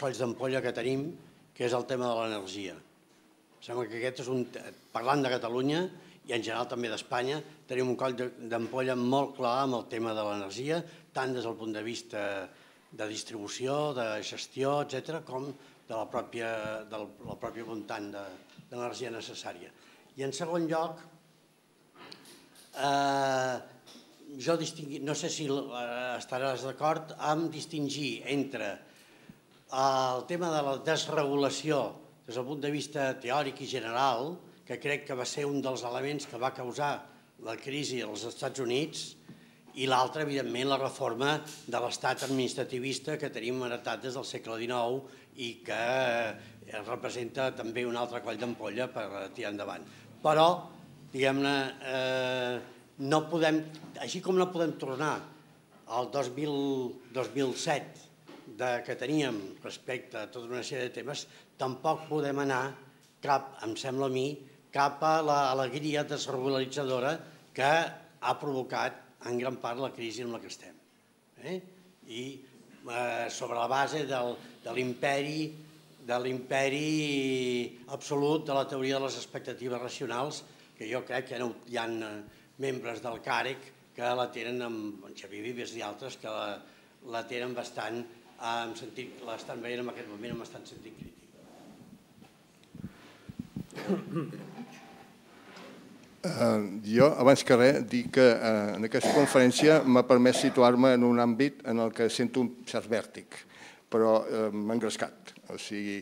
colls d'ampolla que tenim, que és el tema de l'energia. Sembla que aquest és un... Parlant de Catalunya i en general també d'Espanya, tenim un coll d'ampolla molt clar amb el tema de l'energia, tant des del punt de vista de distribució, de gestió, etcètera, com del propi muntant de l'energia necessària. I en segon lloc, jo distingui, no sé si estaràs d'acord amb distingir entre el tema de la desregulació des del punt de vista teòric i general, que crec que va ser un dels elements que va causar la crisi als Estats Units, i l'altre, evidentment, la reforma de l'estat administrativista que tenim heretat des del segle dinou i que representa també un altre coll d'ampolla per tirar endavant. Però, diguem-ne, no podem, així com no podem tornar al dos mil set que teníem respecte a tota una sèrie de temes, tampoc podem anar cap, em sembla a mi, cap a l'alegria desregularitzadora que ha provocat en gran part la crisi en la que estem. I sobre la base de l'imperi de l'imperi absolut de la teoria de les expectatives racionals, que jo crec que hi ha membres del CAREC que la tenen, amb Xavier Vives i altres, que la tenen bastant, l'estan veient en aquest moment amb bastant sentit crític. Jo, abans que res, dic que en aquesta conferència m'ha permès situar-me en un àmbit en el que sento un cert vèrtic, però m'ha engrescat. O sigui,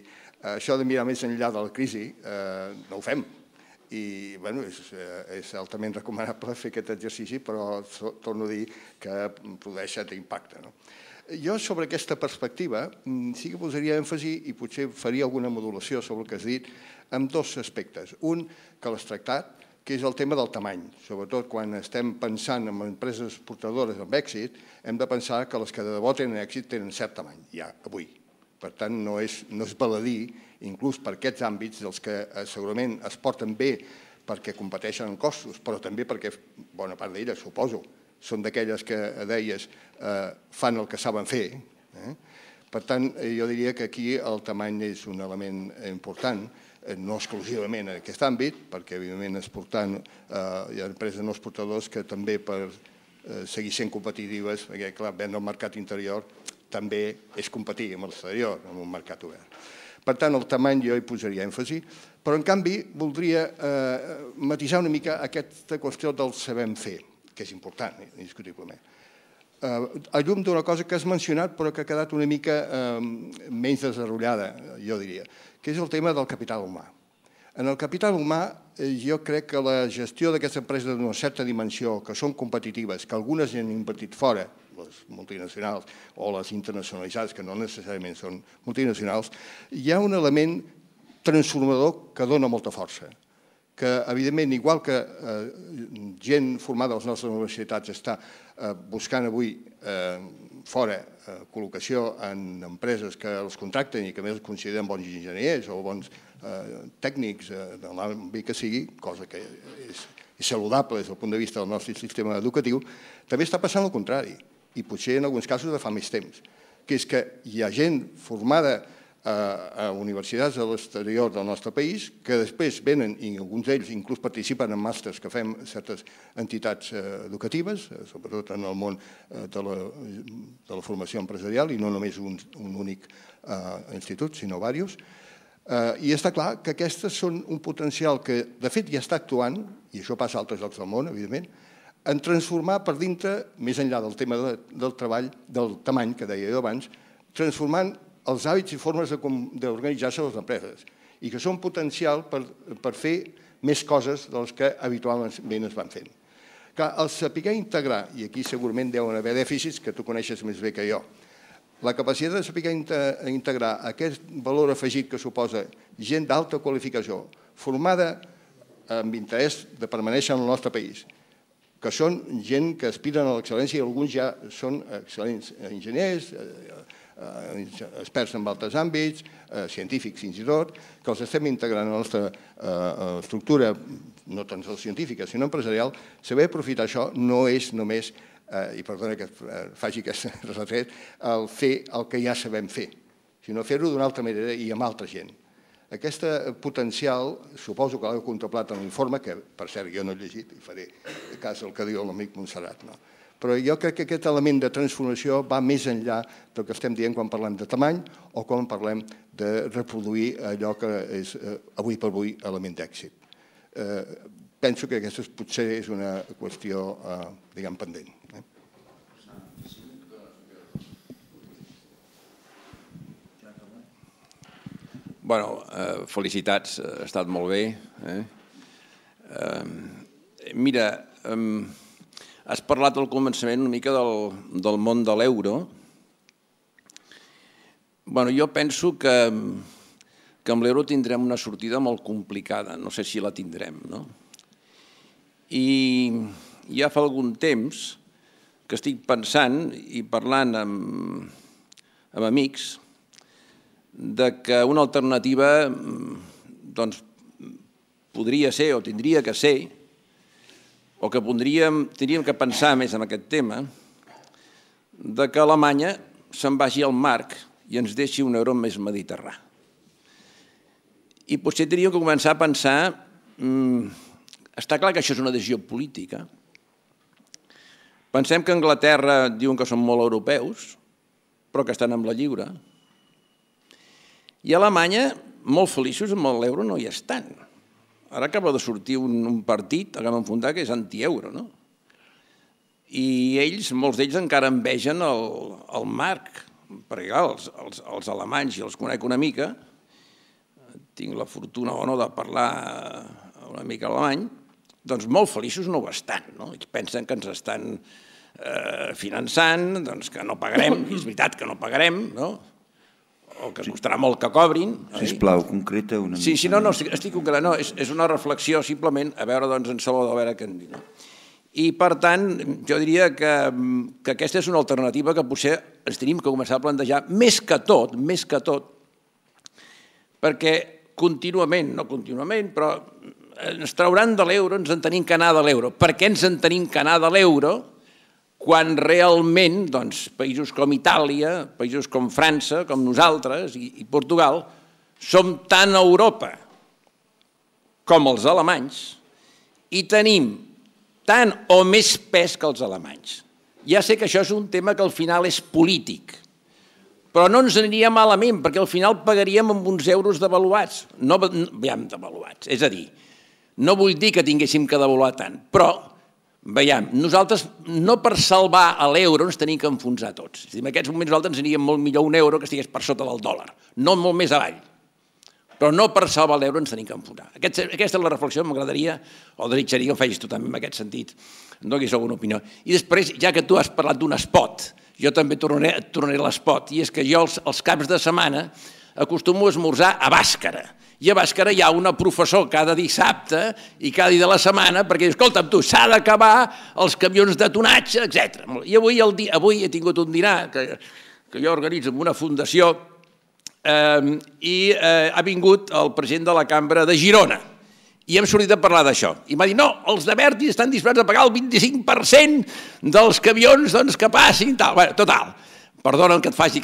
això de mirar més enllà de la crisi no ho fem. I, bueno, és altament recomanable fer aquest exercici, però torno a dir que produeix cert impacte. Jo, sobre aquesta perspectiva, sí que posaria èmfasi i potser faria alguna modulació sobre el que has dit, amb dos aspectes. Un, que l'has tractat, que és el tema del tamany. Sobretot quan estem pensant en empreses exportadores amb èxit, hem de pensar que les que de debò tenen èxit tenen cert tamany, ja, avui. Per tant, no és baladí, inclús per aquests àmbits, dels que segurament es porten bé perquè competeixen en costos, però també perquè bona part d'elles, suposo, són d'aquelles que deies fan el que saben fer. Per tant, jo diria que aquí el tamany és un element important, no exclusivament en aquest àmbit, perquè evidentment exportant hi ha empreses no exportadors que també per seguir sent competitives, perquè clar, vendre al mercat interior també és competir amb l'exterior, amb un mercat obert. Per tant, el tamany jo hi posaria èmfasi, però en canvi voldria matisar una mica aquesta qüestió del sabem fer, que és important, indiscutiblement. A llum d'una cosa que has mencionat però que ha quedat una mica menys desenvolupada, jo diria, que és el tema del capital humà. En el capital humà jo crec que la gestió d'aquestes empreses d'una certa dimensió, que són competitives, que algunes han invertit fora, les multinacionals o les internacionalitzades, que no necessàriament són multinacionals, hi ha un element transformador que dona molta força, que evidentment, igual que gent formada a les nostres universitats està buscant avui fora col·locació en empreses que els contracten i que a més es consideren bons enginyers o bons tècnics de l'àmbit que sigui, cosa que és saludable des del punt de vista del nostre sistema educatiu, també està passant el contrari, i potser en alguns casos de fa més temps, que és que hi ha gent formada a universitats de l'exterior del nostre país que després venen, i alguns d'ells inclús participen en màsters que fem certes entitats educatives, sobretot en el món de la formació empresarial, i no només un únic institut, sinó diversos. I està clar que aquestes són un potencial que, de fet, ja està actuant, i això passa a altres llocs del món, evidentment, en transformar per dintre, més enllà del tema del treball, del tamany, que deia jo abans, transformant els hàbits i formes d'organitzar-se les empreses, i que són potencial per fer més coses de les que habitualment es van fent. El saber integrar, i aquí segurament deuen haver dèficits que tu coneixes més bé que jo, la capacitat de saber integrar aquest valor afegit que suposa gent d'alta qualificació, formada amb interès de permanèixer en el nostre país, que són gent que aspiren a l'excel·lència i alguns ja són excel·lents enginyers, experts en altres àmbits, científics fins i tot, que els estem integrant en la nostra estructura, no tan sols científica, sinó empresarial. Saber aprofitar això no és només, i perdona que faci aquest retret, el fer el que ja sabem fer, sinó fer-ho d'una altra manera i amb altra gent. Aquest potencial, suposo que l'heu contemplat en l'informe, que per cert jo no he llegit, i faré cas al que diu l'amic Montserrat, no? Però jo crec que aquest element de transformació va més enllà del que estem dient quan parlem de tamany o quan parlem de reproduir allò que és avui per avui element d'èxit. penso que aquesta potser és una qüestió, diguem, pendent. Bueno, felicitats, ha estat molt bé. Mira, has parlat al començament una mica del món de l'euro. Bueno, jo penso que amb l'euro tindrem una sortida molt complicada, no sé si la tindrem, no? I ja fa algun temps que estic pensant i parlant amb amics que una alternativa podria ser o tindria que ser, o que tindríem que pensar més en aquest tema, que Alemanya se'n vagi al marc i ens deixi un euro més mediterrani. I potser hauríem que començar a pensar, està clar que això és una decisió política. Pensem que Anglaterra diuen que són molt europeus, però que estan amb la lliure. I a Alemanya, molt feliços amb l'euro, no hi estan. Ara acaba de sortir un partit, acaba d'enfundar, que és anti-euro, no? I ells, molts d'ells encara envegen el marc, perquè els alemanys, i els conec una mica, tinc la fortuna o no de parlar una mica alemany, doncs molt feliços no ho estan, no? Ells pensen que ens estan finançant, que no pagarem, i és veritat que no pagarem, no? O que costarà molt que cobrin. Sisplau, concreta una mica. Sí, sí, no, no, estic concretant. No, és una reflexió, simplement, a veure, doncs, en Salvador, a veure què en diu. I, per tant, jo diria que aquesta és una alternativa que potser ens tenim que començar a plantejar, més que tot, més que tot, perquè contínuament, no contínuament, però ens trauran de l'euro, ens en tenim que anar de l'euro. Per què ens en tenim que anar de l'euro quan realment països com Itàlia, països com França, com nosaltres i Portugal, som tant a Europa com els alemanys i tenim tant o més pes que els alemanys. Ja sé que això és un tema que al final és polític, però no ens aniria malament, perquè al final pagaríem amb uns euros devaluats. No, veiem, devaluats. És a dir, no vull dir que tinguéssim que devaluar tant, però veiem, nosaltres no per salvar l'euro ens tenim que enfonsar tots. En aquests moments nosaltres ens aniríem molt millor un euro que estigués per sota del dòlar, no molt més avall. Però no per salvar l'euro ens tenim que enfonsar. Aquesta és la reflexió que m'agradaria, o desitjaria que ho facis tu també en aquest sentit. No hagués alguna opinió. I després, ja que tu has parlat d'un espot, jo també tornaré a l'espot, i és que jo els caps de setmana acostumo a esmorzar a Bàscara. I a Bàscara hi ha una professor cada dissabte i cada dia de la setmana perquè diu, escolta'm tu, s'ha d'acabar els camions de tonatge, etcètera. I avui he tingut un dinar que jo organitzo amb una fundació i ha vingut el president de la Cambra de Girona i hem sortit a parlar d'això. I m'ha dit, no, els de Verdi estan disposats a pagar el vint-i-cinc per cent dels camions que passin i tal. Bé, total, perdona'm que et faci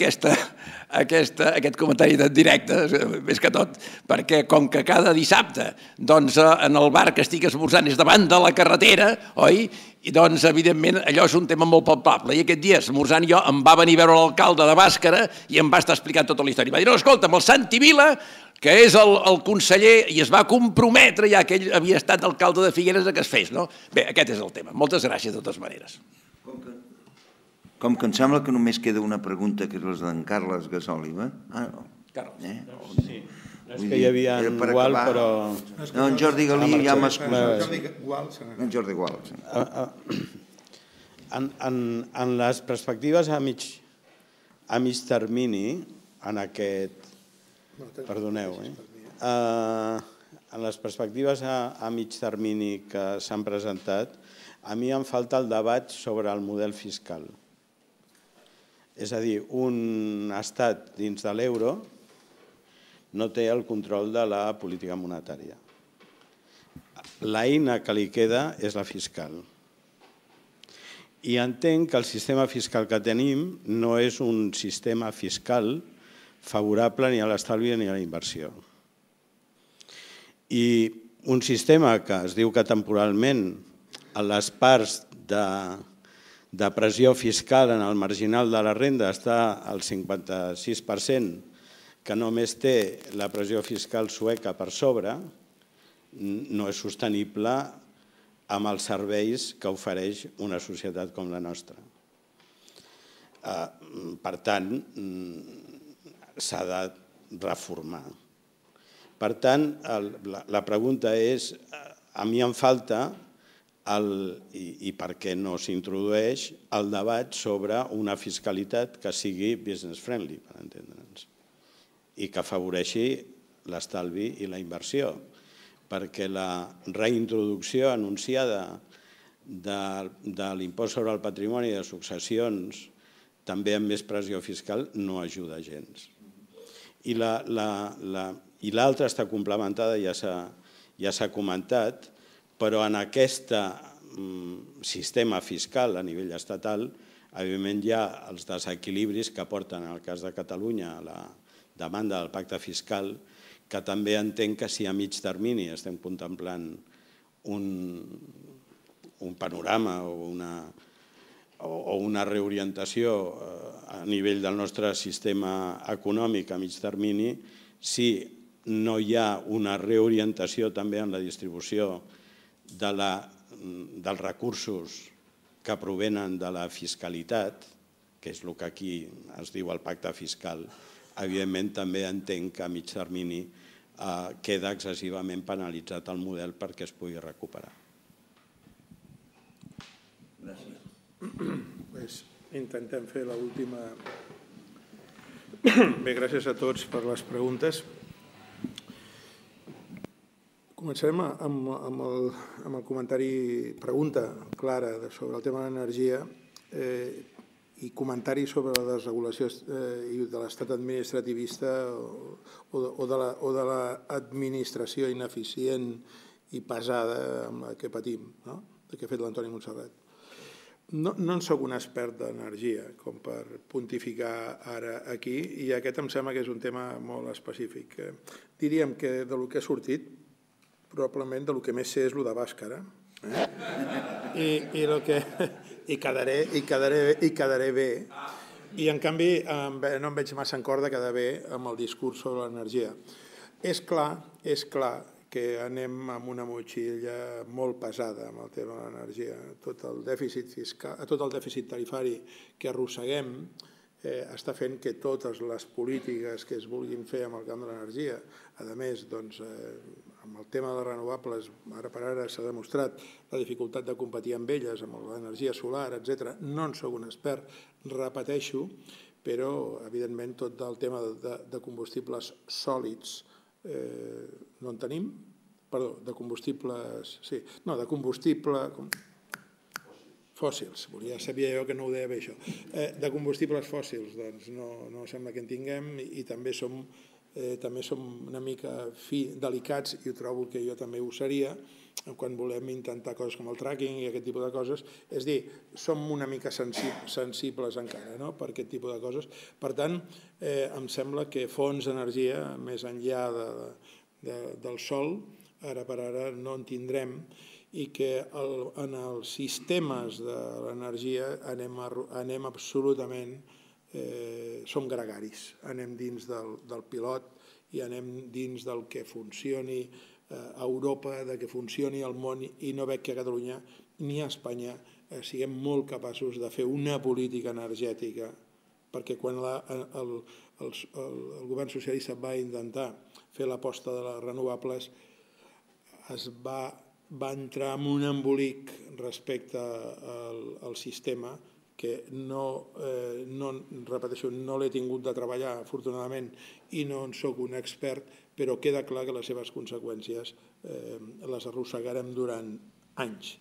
aquest comentari en directe, més que tot, perquè com que cada dissabte en el bar que estic esmorzant és davant de la carretera, oi? I doncs, evidentment, allò és un tema molt palpable. I aquest dia, esmorzant jo, em va venir a veure l'alcalde de Bàscara i em va estar explicant tota la història. Va dir, no, escolta'm, el Santi Vila, que és el conseller, i es va comprometre, ja que ell havia estat alcalde de Figueres, que es fes, no? Bé, aquest és el tema. Moltes gràcies, de totes maneres. Com que em sembla que només queda una pregunta, que és la d'en Carles Gasòliba. Ah, no. Carles. Sí. És que hi havia en Gual, però... No, en Jordi Galí ja m'ha excusat. En Jordi Gual. En les perspectives a mig termini, en aquest... Perdoneu, eh? En les perspectives a mig termini que s'han presentat, a mi em falta el debat sobre el model fiscal. És a dir, un estat dins de l'euro no té el control de la política monetària. L'eina que li queda és la fiscal. I entenc que el sistema fiscal que tenim no és un sistema fiscal favorable ni a l'estalvi ni a la inversió. I un sistema que es diu que temporalment a les parts de pressió fiscal en el marginal de la renda està al cinquanta sis per cent, que només té la pressió fiscal sueca per sobre, no és sostenible amb els serveis que ofereix una societat com la nostra. Per tant, s'ha de reformar. Per tant, la pregunta és, a mi em falta, i per què no s'introdueix, el debat sobre una fiscalitat que sigui business friendly, per entendre'ns, i que afavoreixi l'estalvi i la inversió, perquè la reintroducció anunciada de l'impost sobre el patrimoni i de successions, també amb més pressió fiscal, no ajuda gens. I l'altra està complementada, ja s'ha comentat, però en aquest sistema fiscal a nivell estatal, evidentment hi ha els desequilibris que porten, en el cas de Catalunya, a la demanda del pacte fiscal, que també entenc que si a mig termini estem contemplant un panorama o una reorientació a nivell del nostre sistema econòmic a mig termini, si no hi ha una reorientació també en la distribució dels recursos que provenen de la fiscalitat, que és el que aquí es diu el pacte fiscal, evidentment també entenc que a mig termini queda excessivament penalitzat el model perquè es pugui recuperar. Gràcies. Intentem fer l'última. Bé, gràcies a tots per les preguntes. Començarem amb el comentari, pregunta clara sobre el tema de l'energia i comentari sobre la desregulació de l'estat administrativista o de l'administració ineficient i pesada amb la que patim, que ha fet l'Antoni Montserrat. No en soc un expert d'energia com per pontificar ara aquí i aquest em sembla que és un tema molt específic. Diríem que del que ha sortit probablement del que més sé és el de Bàscara i quedaré bé i en canvi no em veig massa en cor de quedar bé amb el discurs sobre l'energia. És clar, és clar que anem amb una motxilla molt pesada amb el tema de l'energia. Tot el dèficit fiscal, tot el dèficit tarifari que arrosseguem està fent que totes les polítiques que es vulguin fer amb el camp de l'energia, a més, amb el tema de les renovables, ara per ara s'ha demostrat la dificultat de competir amb elles, amb l'energia solar, etcètera. No en soc un expert, repeteixo, però, evidentment, tot el tema de combustibles sòlids no en tenim, perdó, de combustibles, sí, no, de combustible fòssils, sabia jo que no ho deia bé això, de combustibles fòssils, doncs no sembla que en tinguem i també som una mica delicats i trobo que jo també ho seria quan volem intentar coses com el tracking i aquest tipus de coses, és a dir, som una mica sensibles encara per aquest tipus de coses. Per tant, em sembla que fonts d'energia, més enllà del sol, ara per ara no en tindrem i que en els sistemes de l'energia anem absolutament, som gregaris, anem dins del pilot i anem dins del que funcioni a Europa, de que funcioni al món i no veig que a Catalunya ni a Espanya siguem molt capaços de fer una política energètica, perquè quan el govern socialista va intentar fer l'aposta de les renovables es va entrar en un embolic respecte al sistema que no, repeteixo, no l'he tingut de treballar, afortunadament, i no en soc un expert, però queda clar que les seves conseqüències les arrossegarem durant anys,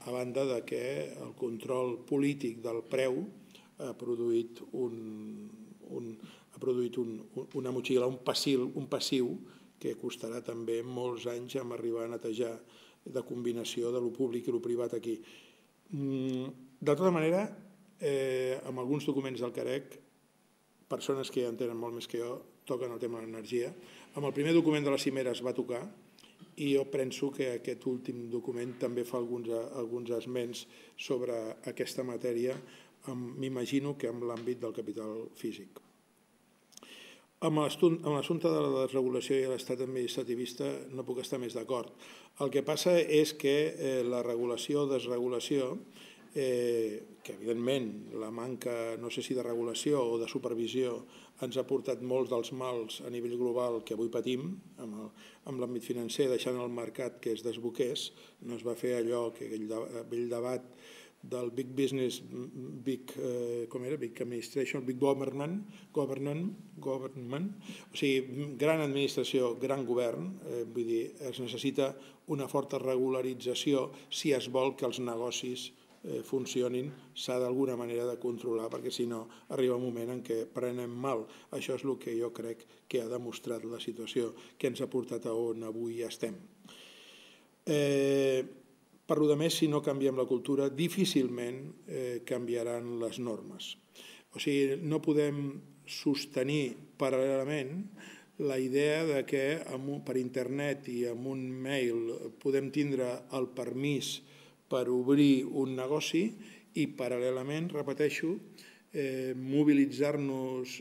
a banda que el control polític del preu ha produït una motxilla, un passiu que costarà també molts anys en arribar a netejar de combinació de lo públic i lo privat aquí. De tota manera, amb alguns documents del Carec, persones que ja en tenen molt més que jo, toquen el tema de l'energia. Amb el primer document de la cimera es va tocar i jo penso que aquest últim document també fa alguns esments sobre aquesta matèria, m'imagino que en l'àmbit del capital físic. Amb l'assumpte de la desregulació i l'estat administrativista no puc estar més d'acord. El que passa és que la regulació o desregulació, que evidentment la manca, no sé si de regulació o de supervisió, ens ha portat molts dels mals a nivell global que avui patim amb l'àmbit financer, deixant el mercat que es desboqués. No es va fer allò, que aquell debat del big business, big, com era, big administration, big government, government, government, o sigui, gran administració, gran govern, vull dir, es necessita una forta regularització si es vol que els negocis funcionin, s'ha d'alguna manera de controlar, perquè si no arriba un moment en què prenem mal. Això és el que jo crec que ha demostrat la situació que ens ha portat a on avui estem. Per lo demés, si no canviem la cultura, difícilment canviaran les normes. O sigui, no podem sostenir paral·lelament la idea que per internet i amb un mail podem tindre el permís per obrir un negoci i paral·lelament, repeteixo, mobilitzar-nos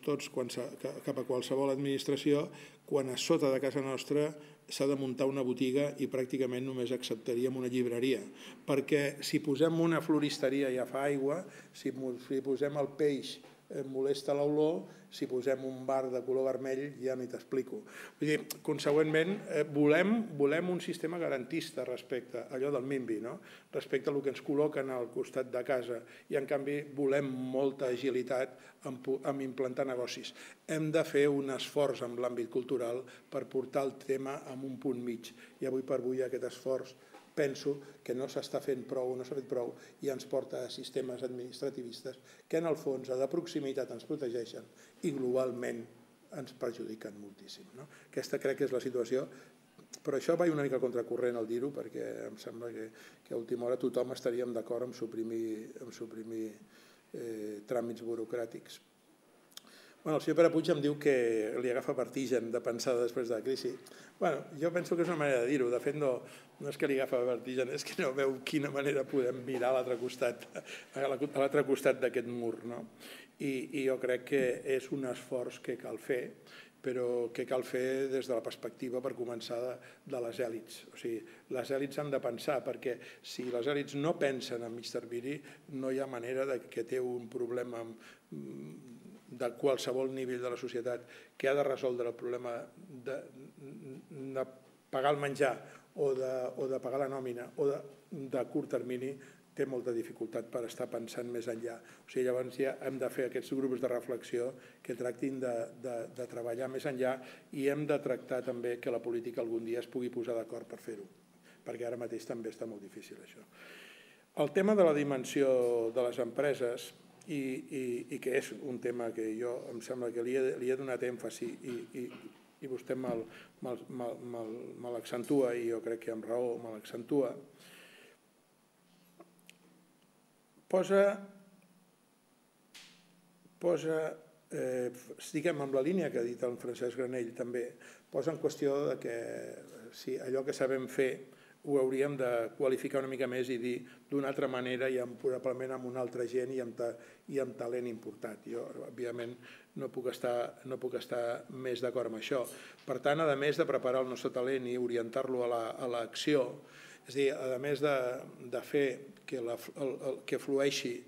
tots cap a qualsevol administració quan a sota de casa nostra s'ha de muntar una botiga i pràcticament només acceptaríem una llibreria. Perquè si posem una floristeria ja fa aigua, si posem el peix molesta l'olor, si posem un bar de color vermell ja ni t'explico. Vull dir, consegüentment, volem un sistema garantista respecte a allò del NIMBY, respecte al que ens col·loquen al costat de casa, i en canvi volem molta agilitat en implantar negocis. Hem de fer un esforç en l'àmbit cultural per portar el tema a un punt mig, i avui per avui aquest esforç penso que no s'està fent prou, no s'ha fet prou, i ens porta a sistemes administrativistes que en el fons de proximitat ens protegeixen i globalment ens perjudiquen moltíssim. Aquesta crec que és la situació, però això vaig una mica contracorrent al dir-ho, perquè em sembla que a última hora tothom estaríem d'acord en suprimir tràmits burocràtics. El senyor Pere Puig em diu que li agafa vertigen de pensar després de la crisi. Jo penso que és una manera de dir-ho. De fet, no és que li agafa vertigen, és que no veu quina manera podem mirar a l'altre costat a l'altre costat d'aquest mur. I jo crec que és un esforç que cal fer, però que cal fer des de la perspectiva, per començar, de les èlits. O sigui, les èlits han de pensar, perquè si les èlits no pensen a mig termini, no hi ha manera que té un problema de qualsevol nivell de la societat que ha de resoldre el problema de pagar el menjar o de pagar la nòmina o de curt termini, té molta dificultat per estar pensant més enllà. O sigui, llavors ja hem de fer aquests grups de reflexió que tractin de treballar més enllà, i hem de tractar també que la política algun dia es pugui posar d'acord per fer-ho, perquè ara mateix també està molt difícil això. El tema de la dimensió de les empreses, i que és un tema que jo em sembla que li he donat èmfasi i vostè me l'accentua, i jo crec que amb raó me l'accentua, posa, diguem, amb la línia que ha dit el Francesc Granell també, posa en qüestió que si allò que sabem fer ho hauríem de qualificar una mica més i dir d'una altra manera, i probablement amb una altra gent i amb talent importat. Jo, òbviament, no puc estar més d'acord amb això. Per tant, a més de preparar el nostre talent i orientar-lo a l'acció, és a dir, a més de fer que flueixi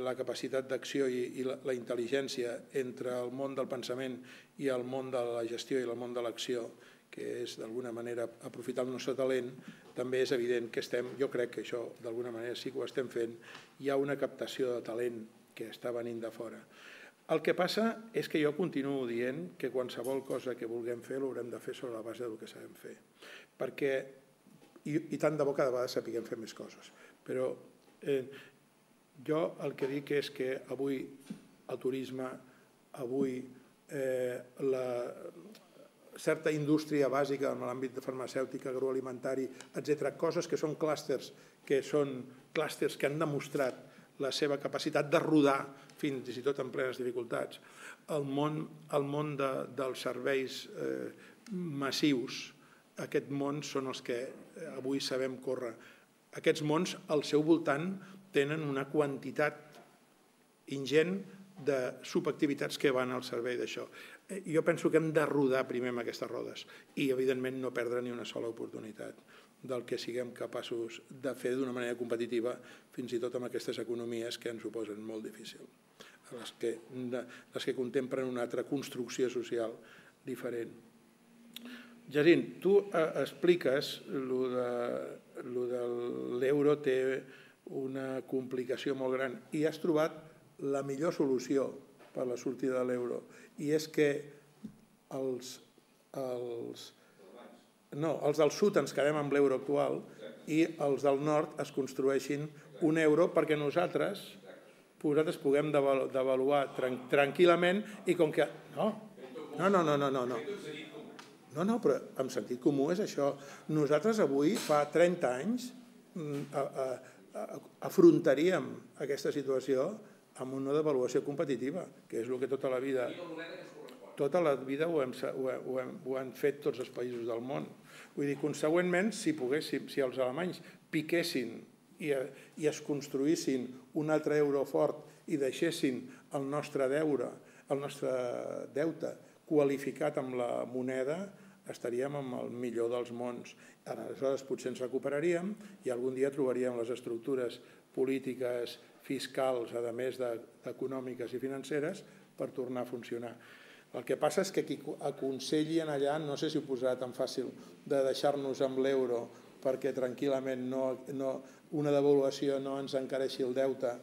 la capacitat d'acció i la intel·ligència entre el món del pensament i el món de la gestió i el món de l'acció, que és d'alguna manera aprofitar el nostre talent, també és evident que estem, jo crec que això d'alguna manera sí que ho estem fent, hi ha una captació de talent que està venint de fora. El que passa és que jo continuo dient que qualsevol cosa que vulguem fer l'haurem de fer sobre la base del que sabem fer. Perquè, i tant de bo cada vegada sapiguem fer més coses, però jo el que dic és que avui el turisme, avui la certa indústria bàsica en l'àmbit de farmacèutica, agroalimentari, etcètera, coses que són clústers, que són clústers que han demostrat la seva capacitat de rodar fins i tot en plenes dificultats. El món dels serveis massius, aquests mons són els que avui sabem córrer. Aquests mons al seu voltant tenen una quantitat ingent de subactivitats que van al servei d'això. Jo penso que hem de rodar primer amb aquestes rodes i, evidentment, no perdre ni una sola oportunitat del que siguem capaços de fer d'una manera competitiva, fins i tot amb aquestes economies que ens ho posen molt difícil, les que, les que contemplen una altra construcció social diferent. Jacint, tu expliques que l'euro té una complicació molt gran i has trobat la millor solució per a la sortida de l'euro, i és que els, els, no, els del sud ens quedem amb l'euro actual i els del nord es construeixin un euro perquè nosaltres, nosaltres puguem devaluar tranquil·lament i com que... No, no, no, no, no, no. No, no, però en sentit comú és això. Nosaltres avui, fa trenta anys, afrontaríem aquesta situació amb una devaluació competitiva, que és el que tota la vida... Tota la vida ho hem, ho, hem, ho, hem, ho han fet tots els països del món. Vull dir, consegüentment, si poguéssim, si els alemanys piquessin i, i es construïssin un altre euro fort i deixessin el nostre deure, el nostre deute qualificat amb la moneda, estaríem amb el millor dels mons. Aleshores potser ens recuperaríem i algun dia trobaríem les estructures polítiques, fiscals, a més d'econòmiques i financeres, per tornar a funcionar. El que passa és que qui aconselli allà, no sé si ho posarà tan fàcil, de deixar-nos amb l'euro perquè tranquil·lament no, no, una devaluació no ens encareixi el deute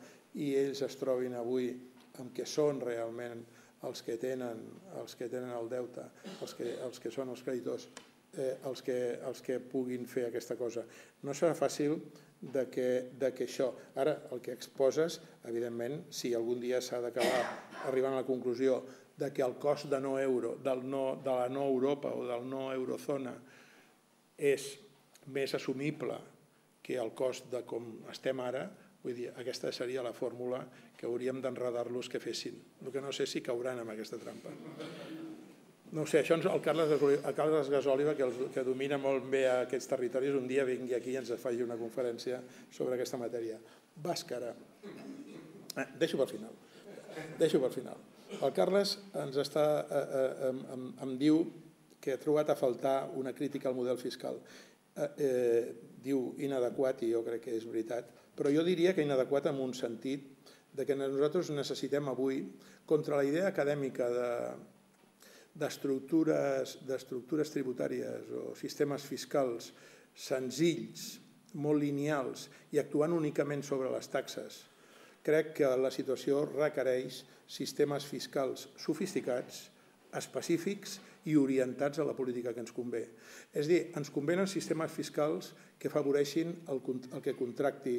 i ells es trobin avui amb què són realment els que tenen, els que tenen el deute, els que, els que són els creditors, eh, els, que, els que puguin fer aquesta cosa. No serà fàcil de que, de que això... Ara, el que exposes, evidentment, si algun dia s'ha d'acabar arribant a la conclusió de que el cost de no euro, del no, de la no Europa o del no eurozona és més assumible que el cost de com estem ara, vull dir, aquesta seria la fórmula que hauríem d'enredar-los que fessin. El que no sé si cauran amb aquesta trampa. No sé, això el Carles Gasòliba, que domina molt bé aquests territoris, un dia vingui aquí i ens faci una conferència sobre aquesta matèria. Bàscara. Deixo per final. Deixo per final. El Carles ens està, eh, em, em, em diu que ha trobat a faltar una crítica al model fiscal. Eh, eh, diu inadequat, i jo crec que és veritat, però jo diria que inadequat en un sentit de que nosaltres necessitem avui, contra la idea acadèmica de d'estructures d'estructures tributàries o sistemes fiscals senzills, molt lineals i actuant únicament sobre les taxes, crec que la situació requereix sistemes fiscals sofisticats, específics i orientats a la política que ens convé. És a dir, ens convenen sistemes fiscals que afavoreixin el, el que contracti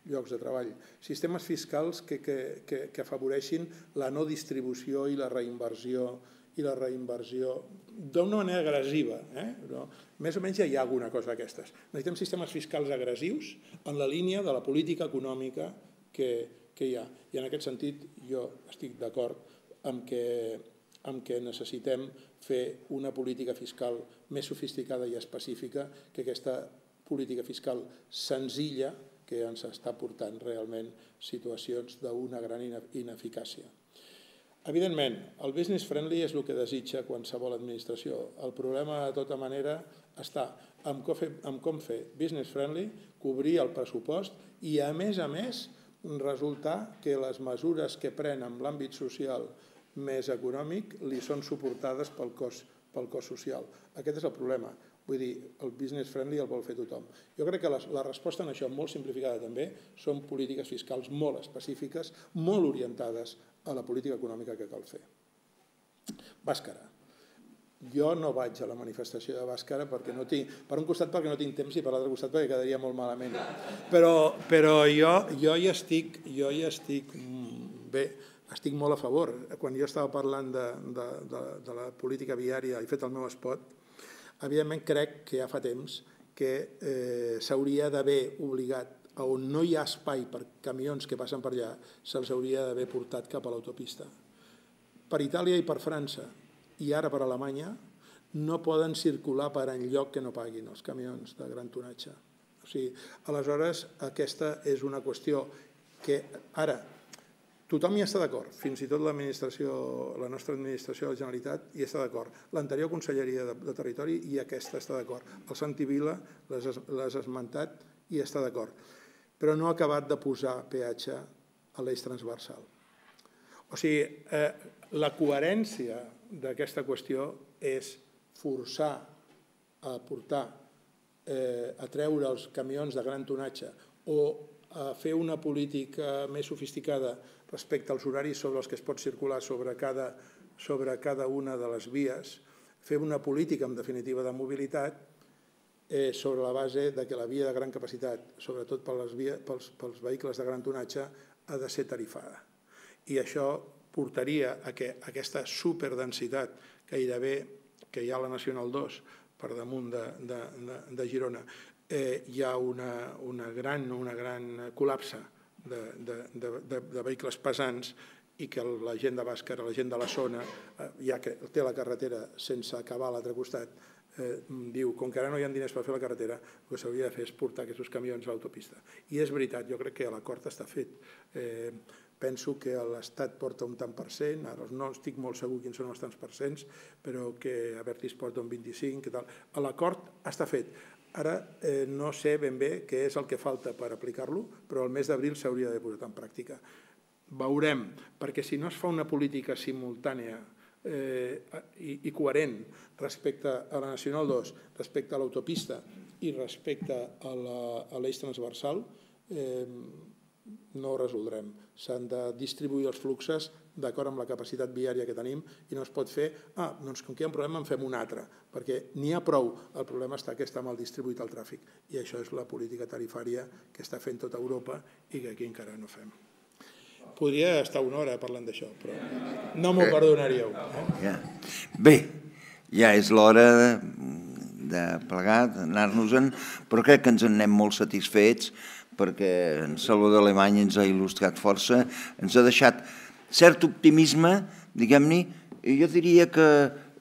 llocs de treball, sistemes fiscals que, que, que, que afavoreixin la no distribució i la reinversió i la reinversió d'una manera agressiva. Eh? Però més o menys ja hi ha alguna cosa d'aquestes. Necessitem sistemes fiscals agressius en la línia de la política econòmica que, que hi ha. I en aquest sentit jo estic d'acord amb que, amb que necessitem fer una política fiscal més sofisticada i específica que aquesta política fiscal senzilla que ens està portant realment situacions d'una gran ineficàcia. Evidentment, el business friendly és el que desitja qualsevol administració. El problema, de tota manera, està en com fer business friendly, cobrir el pressupost i, a més a més, resultar que les mesures que pren en l'àmbit social més econòmic li són suportades pel cost, pel cost social. Aquest és el problema. Vull dir, el business friendly el vol fer tothom. Jo crec que la, la resposta en això, molt simplificada també, són polítiques fiscals molt específiques, molt orientades a la política econòmica que cal fer. Bàscara. Jo no vaig a la manifestació de Bàscara perquè no tinc, per un costat perquè no tinc temps i per l'altre costat perquè quedaria molt malament. Però, però jo, jo hi estic, jo hi estic bé, estic molt a favor. Quan jo estava parlant de, de, de, de la política viària, he fet el meu spot, evidentment crec que ja fa temps que eh, s'hauria d'haver obligat, on no hi ha espai per camions que passen per allà, se'ls hauria d'haver portat cap a l'autopista. Per Itàlia i per França, i ara per Alemanya, no poden circular per enlloc que no paguin els camions de gran tonatge. O sigui, aleshores, aquesta és una qüestió que ara Tothom hi està d'acord, fins i tot l'administració, la nostra administració de la Generalitat hi està d'acord. L'anterior Conselleria de, de Territori i aquesta està d'acord. El Santi Vila l'has esmentat i està d'acord. Però no ha acabat de posar peatge a l'eix transversal. O sigui, eh, la coherència d'aquesta qüestió és forçar a portar, eh, a treure els camions de gran tonatge o a fer una política més sofisticada respecte als horaris sobre els que es pot circular sobre cada, sobre cada una de les vies, fer una política, en definitiva, de mobilitat eh, sobre la base de que la via de gran capacitat, sobretot per les via, pels, pels vehicles de gran tonatge, ha de ser tarifada. I això portaria a que aquesta superdensitat gairebé que hi ha a la Nacional dos per damunt de, de, de, de Girona, eh, hi ha una, una gran, una gran col·lapse de, de, de, de, de vehicles pesants i que la gent de Bàscara, la gent de la zona, eh, ja que té la carretera sense acabar a l'altre costat, eh, diu, com que ara no hi ha diners per fer la carretera, el que s'hauria de fer és portar aquests camions a l'autopista. I és veritat, jo crec que l'acord està fet. Eh, penso que l'Estat porta un tant per cent, ara no estic molt segur quins són els tants per cents, però que Abertis porta un vint-i-cinc, que tal. L'acord està fet. Ara eh, no sé ben bé què és el que falta per aplicar-lo, però el mes d'abril s'hauria de posar en pràctica. Veurem, perquè si no es fa una política simultània eh, i, i coherent respecte a la Nacional dos, respecte a l'autopista i respecte a l'eix transversal, eh, no ho resoldrem. S'han de distribuir els fluxes d'acord amb la capacitat viària que tenim i no es pot fer, ah, doncs com que hi ha un problema en fem un altre, perquè n'hi ha prou. El problema està que està mal distribuït el tràfic i això és la política tarifària que està fent tota Europa i que aquí encara no fem. Podria estar una hora parlant d'això, però no m'ho perdonaríeu. Eh? Bé, ja és l'hora de plegar, d'anar-nos-en, però crec que ens en anem molt satisfets perquè en Salvador Alemany ens ha il·lustrat força, ens ha deixat cert optimisme, diguem-ne, i jo diria que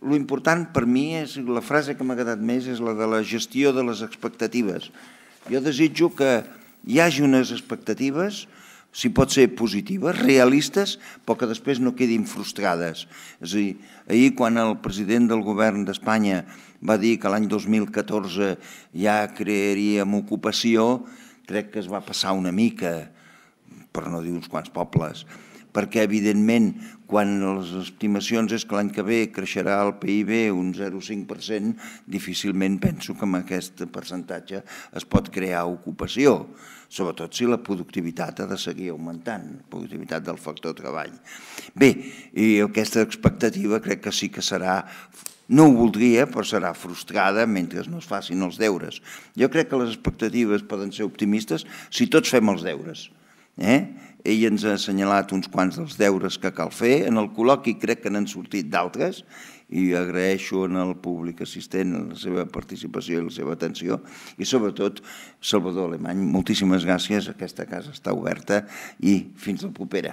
l'important per mi, és la frase que m'ha quedat més, és la de la gestió de les expectatives. Jo desitjo que hi hagi unes expectatives, si pot ser positives, realistes, però que després no quedin frustrades. És a dir, ahir quan el president del govern d'Espanya va dir que l'any dos mil catorze ja crearíem ocupació, crec que es va passar una mica, per no dir uns quants pobles, perquè evidentment quan les estimacions és que l'any que ve creixerà el P I B un zero coma cinc per cent, difícilment penso que amb aquest percentatge es pot crear ocupació, sobretot si la productivitat ha de seguir augmentant, la productivitat del factor treball. Bé, i aquesta expectativa crec que sí que serà, no ho voldria, però serà frustrada mentre no es facin els deures. Jo crec que les expectatives poden ser optimistes si tots fem els deures. Ell ens ha assenyalat uns quants dels deures que cal fer, en el col·loqui crec que n'han sortit d'altres, i agraeixo al públic assistent la seva participació i la seva atenció, i sobretot, Salvador Alemany, moltíssimes gràcies, aquesta casa està oberta i fins la propera.